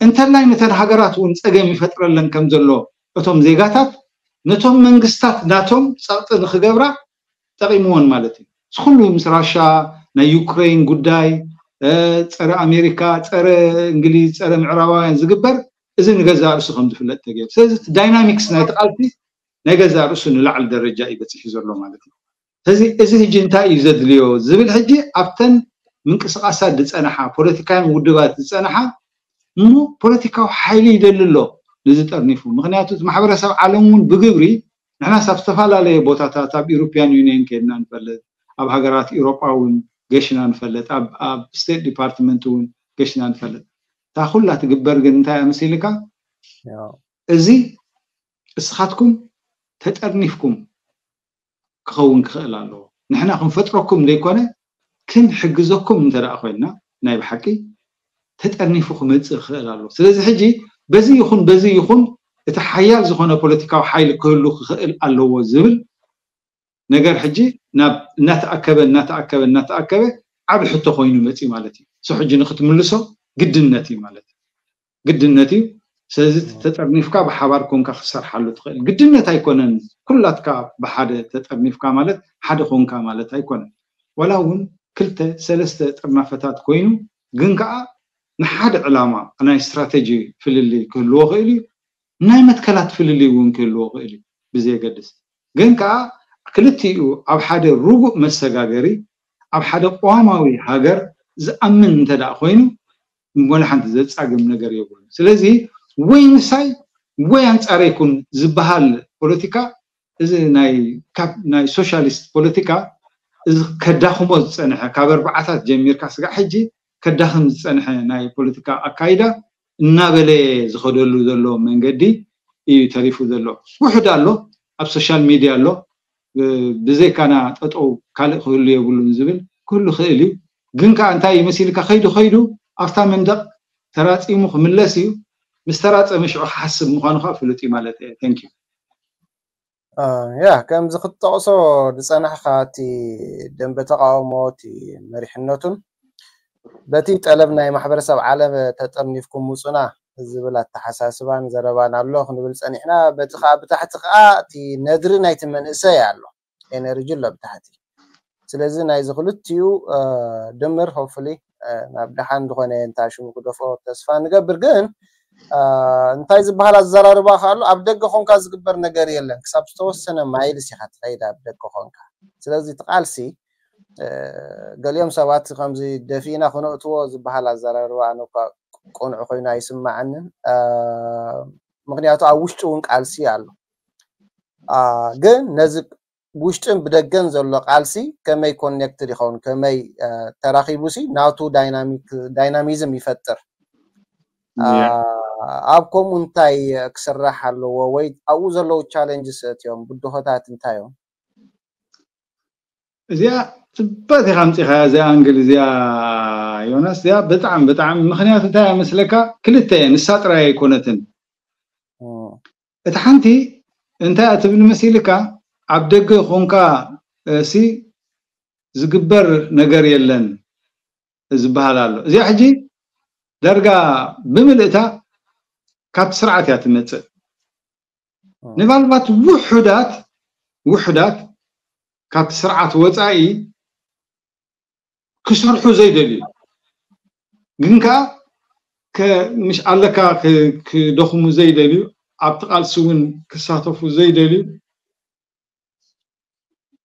እንተላይ ነተን ሃገራት እውን ጸገም ይፈጥረለን ከም ዘሎ እቶም ዜጋታት ነቶም መንግስታት ናቶም ጸቕጢ ንክገብራ ጠቒምዎን ማለት እዩ። እዚ ኩሉ ምስ ራሻ ናይ ዩክሬን ጉዳይ ጸረ ኣሜሪካ፣ ጸረ እንግሊዝ፣ ጸረ ምዕራባውያን ዝግበር እዚ ንገዛእ ርእሱ ከም ዝፍለጥ ተገይሩ። ስለዚ እቲ ዳይናሚክስ ናይቲ ቃልሲ ናይ ገዛእ ርእሱ ንላዕሊ ደረጃ እዩ በፂሑ ዘሎ ማለት እዩ። ስለዚ እዚ ሕጂ እንታይ እዩ ዘድልዮ ዝብል ሕጂ ኣብተን ምንቅስቃሳት ዝፀንሓ ፖለቲካውያን ውድባት ዝፀንሓ እሞ ፖለቲካዊ ሓይሊ ይደሊ ኣሎ ንዚ ጠርኒፉ። ምክንያቱ እቲ ማሕበረሰብ ዓለም እውን ብግብሪ ንሕናስ ኣብ ዝተፈላለየ ቦታታት ኣብ ኢሮፒያን ዩኒየን ከድና ንፈልጥ፣ ኣብ ሃገራት ኢሮጳ እውን ገሽና ንፈልጥ፣ ኣብ ስቴት ዲፓርትመንት እውን ገሽና ንፈልጥ። እታ ኩላ ትግበር ግን እንታይ ኣመሲልካ እዚ እስኻትኩም ተጠርኒፍኩም ክኸውን ክኽእል ኣለዎ። ንሕና ክንፈጥረኩም ዘይኮነ ክንሕግዘኩም እንተ ደኣ ኮይንና ናይ ብሓቂ ተጠርኒፉ ክመጽእ ክኽእል ኣለዎ። ስለዚ ሕጂ በዚ ይኹን በዚ ይኹን እቲ ሓያል ዝኾነ ፖለቲካዊ ሓይሊ ክህሉ ክኽእል ኣለዎ ዝብል ነገር ሕጂ ናብ እናተኣከበ እናተኣከበ እናተኣከበ ዓቢ ሕቶ ኮይኑ መጽዩ ማለት እዩ። እሱ ሕጂ ንክትምልሶ ግድነት እዩ ማለት እዩ። ግድነት እዩ። ስለዚ ተጠርኒፍካ ብሓባር ኮንካ ክትሰርሓሉ ትኽእል ግድነት ኣይኮነን። ኩላትካ ብሓደ ተጠርኒፍካ ማለት ሓደ ኮንካ ማለት ኣይኮነን። ዋላ እውን ክልተ ሰለስተ ጥርናፈታት ኮይኑ ግን ከዓ ንሓደ ዕላማ ናይ ስትራተጂ ፍልልይ ክህልዎ ክእል እዩ። ናይ መትከላት ፍልልይ እውን ክህልዎ ክእል እዩ ብዘየገድስ። ግን ከዓ ክልቲኡ ኣብ ሓደ ርጉእ መሰጋገሪ ኣብ ሓደ ቅዋማዊ ሃገር ዝኣምን እንተ ደኣ ኮይኑ ወላ ሓንቲ ዘጻግም ነገር የብሉን። ስለዚ ወይ ምሳይ ወይ ኣንጻረይ ኩን ዝበሃል ፖለቲካ እዚ ናይ ካብ ናይ ሶሻሊስት ፖለቲካ እዚ ከዳኽሞ ዝጸንሐ ካብ ኣርባዓታት ጀሚርካ ስጋዕ ሕጂ ከዳኽም ዝጸንሐ ናይ ፖለቲካ ኣካይዳ እናበለ ዝኸደሉ ዘሎ መንገዲ እዩ ተሪፉ ዘሎ። ውሑድ ኣሎ ኣብ ሶሻል ሚድያ ኣሎ ብዘይካና ጠጠው ካልእ ክህሉ የብሉን ዝብል ክህሉ ክእል እዩ። ግን ከዓ እንታይ እዩ መሲልካ ከይዱ ከይዱ ኣብታ መንደቕ ተራፂሙ ክምለስ እዩ። ምስ ተራፀመ ሽዑ ክሓስብ ምዃኑ ከዓ ፍሉጥ እዩ ማለት እየ። Thank you። ያ ከምዚ ክትጠቕሶ ዝፀናሕካ እቲ ደንበ ተቃውሞ እቲ መሪሕነቱን በቲ ጠለብ ናይ ማሕበረሰብ ዓለም ተጠርኒፍኩም ውፁና ዝብል ኣተሓሳስባን ዘረባን ኣሎ ክንብል ፀኒሕና። በቲ ከዓ ብታሕቲ ከዓ እቲ ነድሪ ናይቲ መንእሰይ ኣሎ፣ ኤነርጂ ኣሎ ብታሕቲ። ስለዚ ናይዚ ክልቲኡ ድምር ሆፍሊ ናብ ደሓን ዝኾነ እንታይ ሽሙ ክደፎ ተስፋ ንገብር። ግን እንታይ ዝበሃል ኣዘራርባ ኣሎ፣ ኣብ ደገ ኮንካ ዝግበር ነገር የለን። ክሳብ ዝተወሰነ ማይልስ ኢኻ ትኸይድ ኣብ ደገ ኮንካ። ስለዚ እቲ ቃልሲ ገሊኦም ሰባት ከምዚ ደፊእና ክነእትዎ ዝበሃል ኣዘራርባ ኣነ እኳ ቅኑዕ ኮይኑ ኣይስማዓንን። ምክንያቱ ኣብ ውሽጢ እውን ቃልሲ ኣሎ። ግን ነዚ ውሽጥን ብደገን ዘሎ ቃልሲ ከመይ ኮኔክትድ ይኸውን፣ ከመይ ተራኺቡ ሲ ናቱ ዳይናሚዝም ይፈጥር። ኣብ ከምኡ እንታይ ክስራሕ ኣለዎ ወይ ኣብኡ ዘለዉ ቻለንጅስ እዮም ብድሆታት እንታይ እዮም? እዚኣ ጽበት ኢኻ ኣምጺኻ እዚኣ ኣንግል እዚኣ ዮናስ እዚኣ ብጣዕሚ ብጣዕሚ ምክንያቱ እንታይ እያ መስለካ ክልተ እየ ንሳ ጥራይ ኣይኮነትን እቲ ሓንቲ እንታይ እያ ትብል መሲልካ ኣብ ደገ ኮንካ ሲ ዝግበር ነገር የለን ዝበሃል ኣሎ። እዚኣ ሕጂ ዳርጋ ብምልእታ ካብቲ ስርዓት እያ ትመፅእ። ምናልባት ውሑዳት ውሑዳት ካብቲ ስርዓት ወፃኢ ክሰርሑ ዘይደልዩ ግን ከዓ ምስ ኣለካ ክደኽሙ ዘይደልዩ፣ ኣብቲ ቃልሲ እውን ክሳተፉ ዘይደልዩ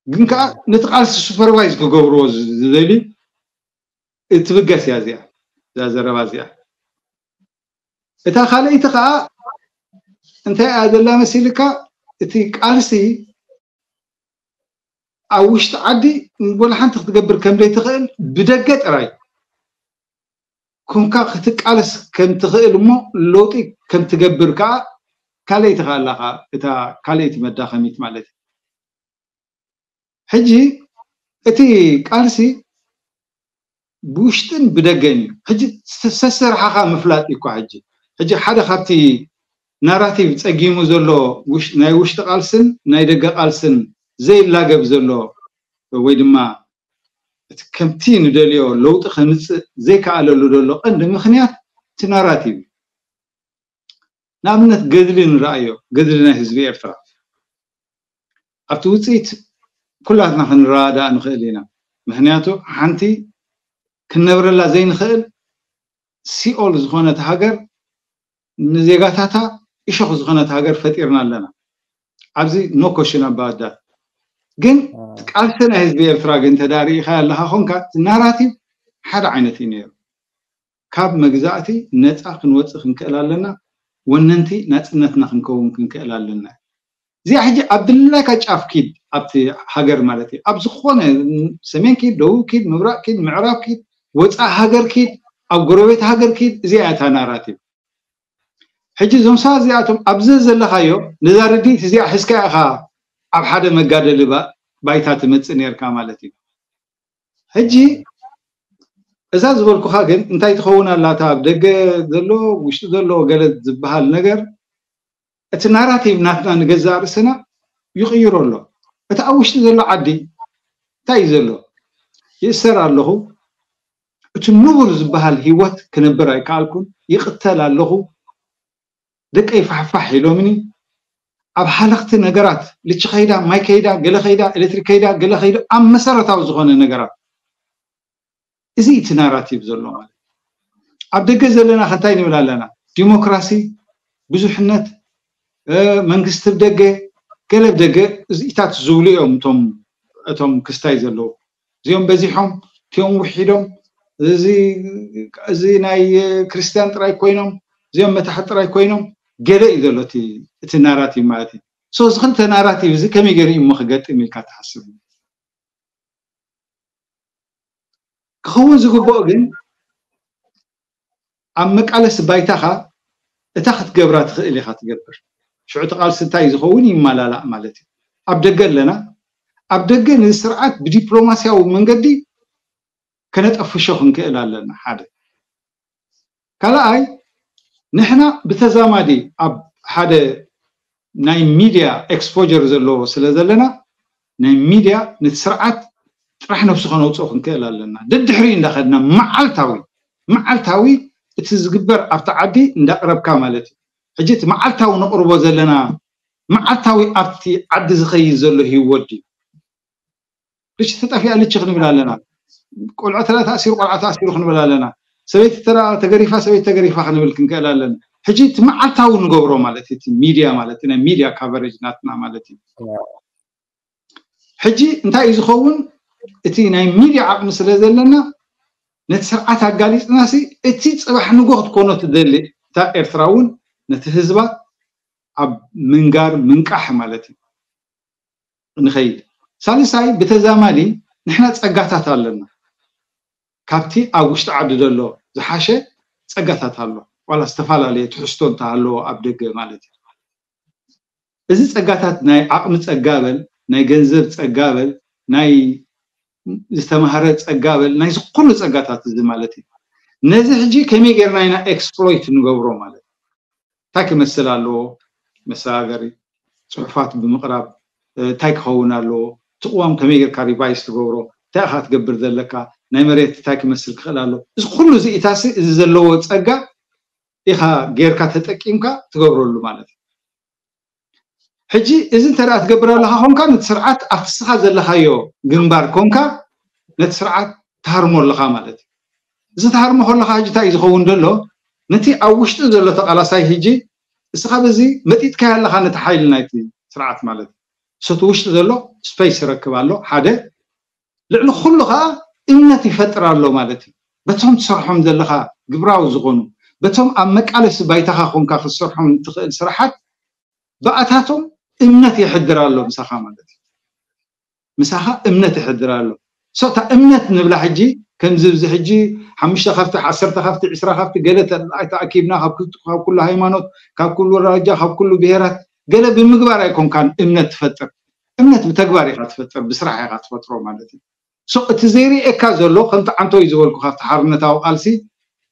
ግን ከዓ ነቲ ቃልሲ ሱፐርቫይዝ ክገብርዎ ዝደልዩ እትብገስ እያ እዚኣ እዛ ዘረባ እዚኣ። እታ ካልኣይቲ ከዓ እንታይ እያ ዘላ መሲልካ? እቲ ቃልሲ ኣብ ውሽጢ ዓዲ ወላ ሓንቲ ክትገብር ከም ዘይትኽእል ብደገ ጥራይ ኮንካ ክትቃለስ ከም ትኽእል እሞ ለውጢ ከም ትገብር ከዓ ካልኣይቲ ከዓ ኣላ እታ ካልኣይቲ መዳኸሚት ማለት እዩ። ሕጂ እቲ ቃልሲ ብውሽጥን ብደገን እዩ። ሕጂ ሰስርሓኻ ምፍላጥ እዩ እኳ ሕጂ ሕጂ ሓደ ካብቲ ናራቲቭ ፀጊሙ ዘሎ ናይ ውሽጢ ቃልስን ናይ ደገ ቃልስን ዘይላገብ ዘሎ ወይ ድማ እቲ ከምቲ ንደልዮ ለውጢ ከምፅእ ዘይከኣለሉ ዘሎ ቀንዲ ምክንያት እቲ ናራቲቭ እዩ። ንኣብነት ገድሊ ንረኣዮ፣ ገድሊ ናይ ህዝቢ ኤርትራ ኣብቲ ውፅኢት ኩላትና ክንረዳእ ንኽእል ኢና። ምክንያቱ ሓንቲ ክንነብረላ ዘይንኽእል ሲኦል ዝኾነት ሃገር ንዜጋታታ እሾኽ ዝኾነት ሃገር ፈጢርና ኣለና። ኣብዚ no question about that። ግን ቃልሲ ናይ ህዝቢ ኤርትራ ግን ተዳሪእኻ ኣለኻ ኮንካ ናራቲቭ ሓደ ዓይነት እዩ ነይሩ። ካብ መግዛእቲ ነፃ ክንወፅእ ክንክእል ኣለና። ወነንቲ ናፅነትና ክንከውን ክንክእል ኣለና። እዚኣ ሕጂ ኣብ ድላይካ ጫፍ ኪድ ኣብቲ ሃገር ማለት እዩ። ኣብ ዝኾነ ሰሜን ኪድ፣ ደቡብ ኪድ፣ ምብራቅ ኪድ፣ ምዕራብ ኪድ፣ ወፃኢ ሃገር ኪድ፣ ኣብ ጎረቤት ሃገር ኪድ፣ እዚኣ እያ እታ ናራቲቭ። ሕጂ እዞም ሰባት እዚኣቶም ኣብዚ ዘለኻዮ ነዛ ርድኢት እዚኣ ሒዝካ ኢኻ ኣብ ሓደ መጋደሊ ባይታ ትመፅእ ነርካ ማለት እዩ። ሕጂ እዛ ዝበልኩኻ ግን እንታይ ትኸውን ኣላ? እታ ኣብ ደገ ዘሎ ውሽጢ ዘሎ ገለ ዝበሃል ነገር እቲ ናራቲቭ ናትና ንገዛእ ርእስና ይቕይሮ ኣሎ። እቲ ኣብ ውሽጢ ዘሎ ዓዲ እንታይ እዩ ዘሎ? ይእሰር ኣለኹ፣ እቲ ንቡር ዝበሃል ህይወት ክነብር ኣይከኣልኩን፣ ይቕተል ኣለኹ፣ ደቀይ ፋሕፋሕ ኢሎምኒ፣ ኣብ ሃለኽቲ ነገራት ልቺ ከይዳ፣ ማይ ከይዳ፣ ገለ ከይዳ፣ ኤሌክትሪክ ከይዳ፣ ገለ ከይዳ፣ ኣብ መሰረታዊ ዝኾነ ነገራት እዚ እቲ ናራቲቭ ዘሎ ማለት ኣብ ደገ ዘለና ከንታይ ንብል ኣለና? ዲሞክራሲ፣ ብዙሕነት፣ መንግስቲ ብደገ፣ ገለ ብደገ እዚኢታት ዝብሉ እዮም እቶም እቶም ክስታይ ዘለዉ። እዚኦም በዚሖም፣ እቲኦም ውሒዶም፣ እዚ ናይ ክርስትያን ጥራይ ኮይኖም፣ እዚኦም መታሕት ጥራይ ኮይኖም፣ ገለ እዩ ዘሎ እቲ ናራቲቭ ማለት እዩ። ሶ እዚ ክልተ ናራቲቭ እዚ ከመይ ገይሩ እዩ እሞ ክገጥም ኢልካ ትሓስብ? ክኸውን ዝግብኦ ግን ኣብ መቃለሲ ባይታኻ እታ ክትገብራ ትኽእል ኢኻ ትገብር። ሽዑ እቲ ቃልሲ እንታይ ዝኸውን ይመላላእ ማለት እዩ። ኣብ ደገ ኣለና፣ ኣብ ደገ ንስርዓት ብዲፕሎማስያዊ መንገዲ ከነጠፍሾ ክንክእል ኣለና። ሓደ ካልኣይ ንሕና ብተዛማዲ ኣብ ሓደ ናይ ሚድያ ኤክስፖጀር ዘለዎ ስለ ዘለና ናይ ሚድያ ነቲ ስርዓት ጥራሕ ነብሱ ከነውፅኦ ክንክእል ኣለና። ደድሕሪ እንዳኸድና መዓልታዊ መዓልታዊ እቲ ዝግበር ኣብቲ ዓዲ እንዳቅረብካ ማለት እዩ። ሕጂ እቲ መዓልታዊ ነቅርቦ ዘለና መዓልታዊ ኣብቲ ዓዲ ዝኸይድ ዘሎ ህይወት ድዩ? ልቺ ተጠፊኣ ልቺ ክንብል ኣለና። ቆልዑ ተላ ተኣሲሩ ቆልዓ ተኣሲሩ ክንብል ኣለና። ሰበይቲ ተላ ተገሪፋ ሰበይቲ ተገሪፋ ክንብል ክንክእል ኣለና። ሕጂ እቲ መዓልታዊ ንገብሮ ማለት እቲ ሚድያ ማለት ናይ ሚድያ ካቨሬጅ ናትና ማለት እዩ። ሕጂ እንታይ እዩ ዝኸውን? እቲ ናይ ሚድያ ዓቕሚ ስለ ዘለና ነቲ ስርዓት ኣጋሊፅናሲ እቲ ፅባሕ ንጎ ክትኮኖ ትደሊ እታ ኤርትራ እውን ነቲ ህዝባ ኣብ ምንጋር ምንቃሕ ማለት እዩ። ንኸይድ። ሳልሳይ ብተዛማዲ ንሕና ፀጋታት ኣለና። ካብቲ ኣብ ውሽጢ ዓዲ ዘሎ ዝሓሸ ፀጋታት ኣሎ። ዋላ ዝተፈላለየ ትሕዝቶ እንተሃለዎ ኣብ ደገ ማለት እዩ። እዚ ፀጋታት ናይ ዓቕሚ ፀጋ በል፣ ናይ ገንዘብ ፀጋ በል፣ ናይ ዝተማህረ ፀጋ በል፣ ናይ ዝኾኑ ፀጋታት እዚ ማለት እዩ። ነዚ ሕጂ ከመይ ጌርና ኢና ኤክስፕሎይት ንገብሮ ማለት እዩ። እንታይ ክመስል ኣለዎ? መሰጋገሪ ፅሑፋት ብምቕራብ እንታይ ክኸውን ኣለዎ? እቲ ቅዋም ከመይ ጌርካ ሪቫይዝ ትገብሮ? እንታይ ኢኻ ትገብር ዘለካ? ናይ መሬት እንታይ ክመስል ክኽእል ኣሎ። እዚ ኩሉ እዚ ኢታሲ እዚ ዘለዎ ጸጋ ኢኻ ጌርካ ተጠቂምካ ትገብረሉ ማለት እዩ። ሕጂ እዚ እንተ ደኣ ትገብር ኣለኻ ኮንካ፣ ነቲ ስርዓት ኣብቲ ስኻ ዘለኻዮ ግንባር ኮንካ ነቲ ስርዓት ትሃርሞ ኣለኻ ማለት እዩ። እዚ ትሃርሞ ከለኻ ሕጂ እንታይ እዩ ዝኸውን ዘሎ? ነቲ ኣብ ውሽጢ ዘሎ ተቓላሳይ ሕጂ እስኻ በዚ መጢጥካዮ ኣለኻ ነቲ ሓይሊ ናይቲ ስርዓት ማለት እዩ። ሰቲ ውሽጢ ዘሎ ስፔስ ይረክብ ኣሎ ሓደ። ልዕሊ ኩሉ ኸዓ እምነት ይፈጥር ኣሎ ማለት እዩ። በቶም ትሰርሖም ዘለኻ ግብራዊ ዝኾኑ፣ በቶም ኣብ መቃለሲ ባይታኻ ኮንካ ክትሰርሖም እትኽእል ስራሓት ብኣታቶም እምነት የሕድር ኣሎ ምሳኻ ማለት እዩ። ምሳኻ እምነት የሕድር ኣሎ። ሶ እታ እምነት ንብላ ሕጂ ከምዚ እዚ ሕጂ ሓሙሽተ ካብቲ ዓሰርተ ካብቲ ዕስራ ካብቲ ገለ ተኣኪብና ካብ ኩሉ ሃይማኖት ካብ ኩሉ ራጃ ካብ ኩሉ ብሄራት ገለ ብምግባር ኣይኮንካን እምነት ትፈጥር። እምነት ብተግባር ኢኻ ትፈጥር፣ ብስራሕ ኢኻ ትፈጥሮ ማለት እዩ። ሶ እቲ ዘይርእየካ ዘሎ ከምቲ ዓንቶ እዩ ዝበልኩ ካብቲ ሓርነታዊ ቃልሲ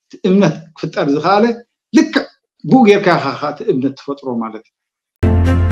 እቲ እምነት ክፍጠር ዝኸኣለ ልክዕ ብኡ ጌርካ ኢኻ እቲ እምነት ትፈጥሮ ማለት እዩ።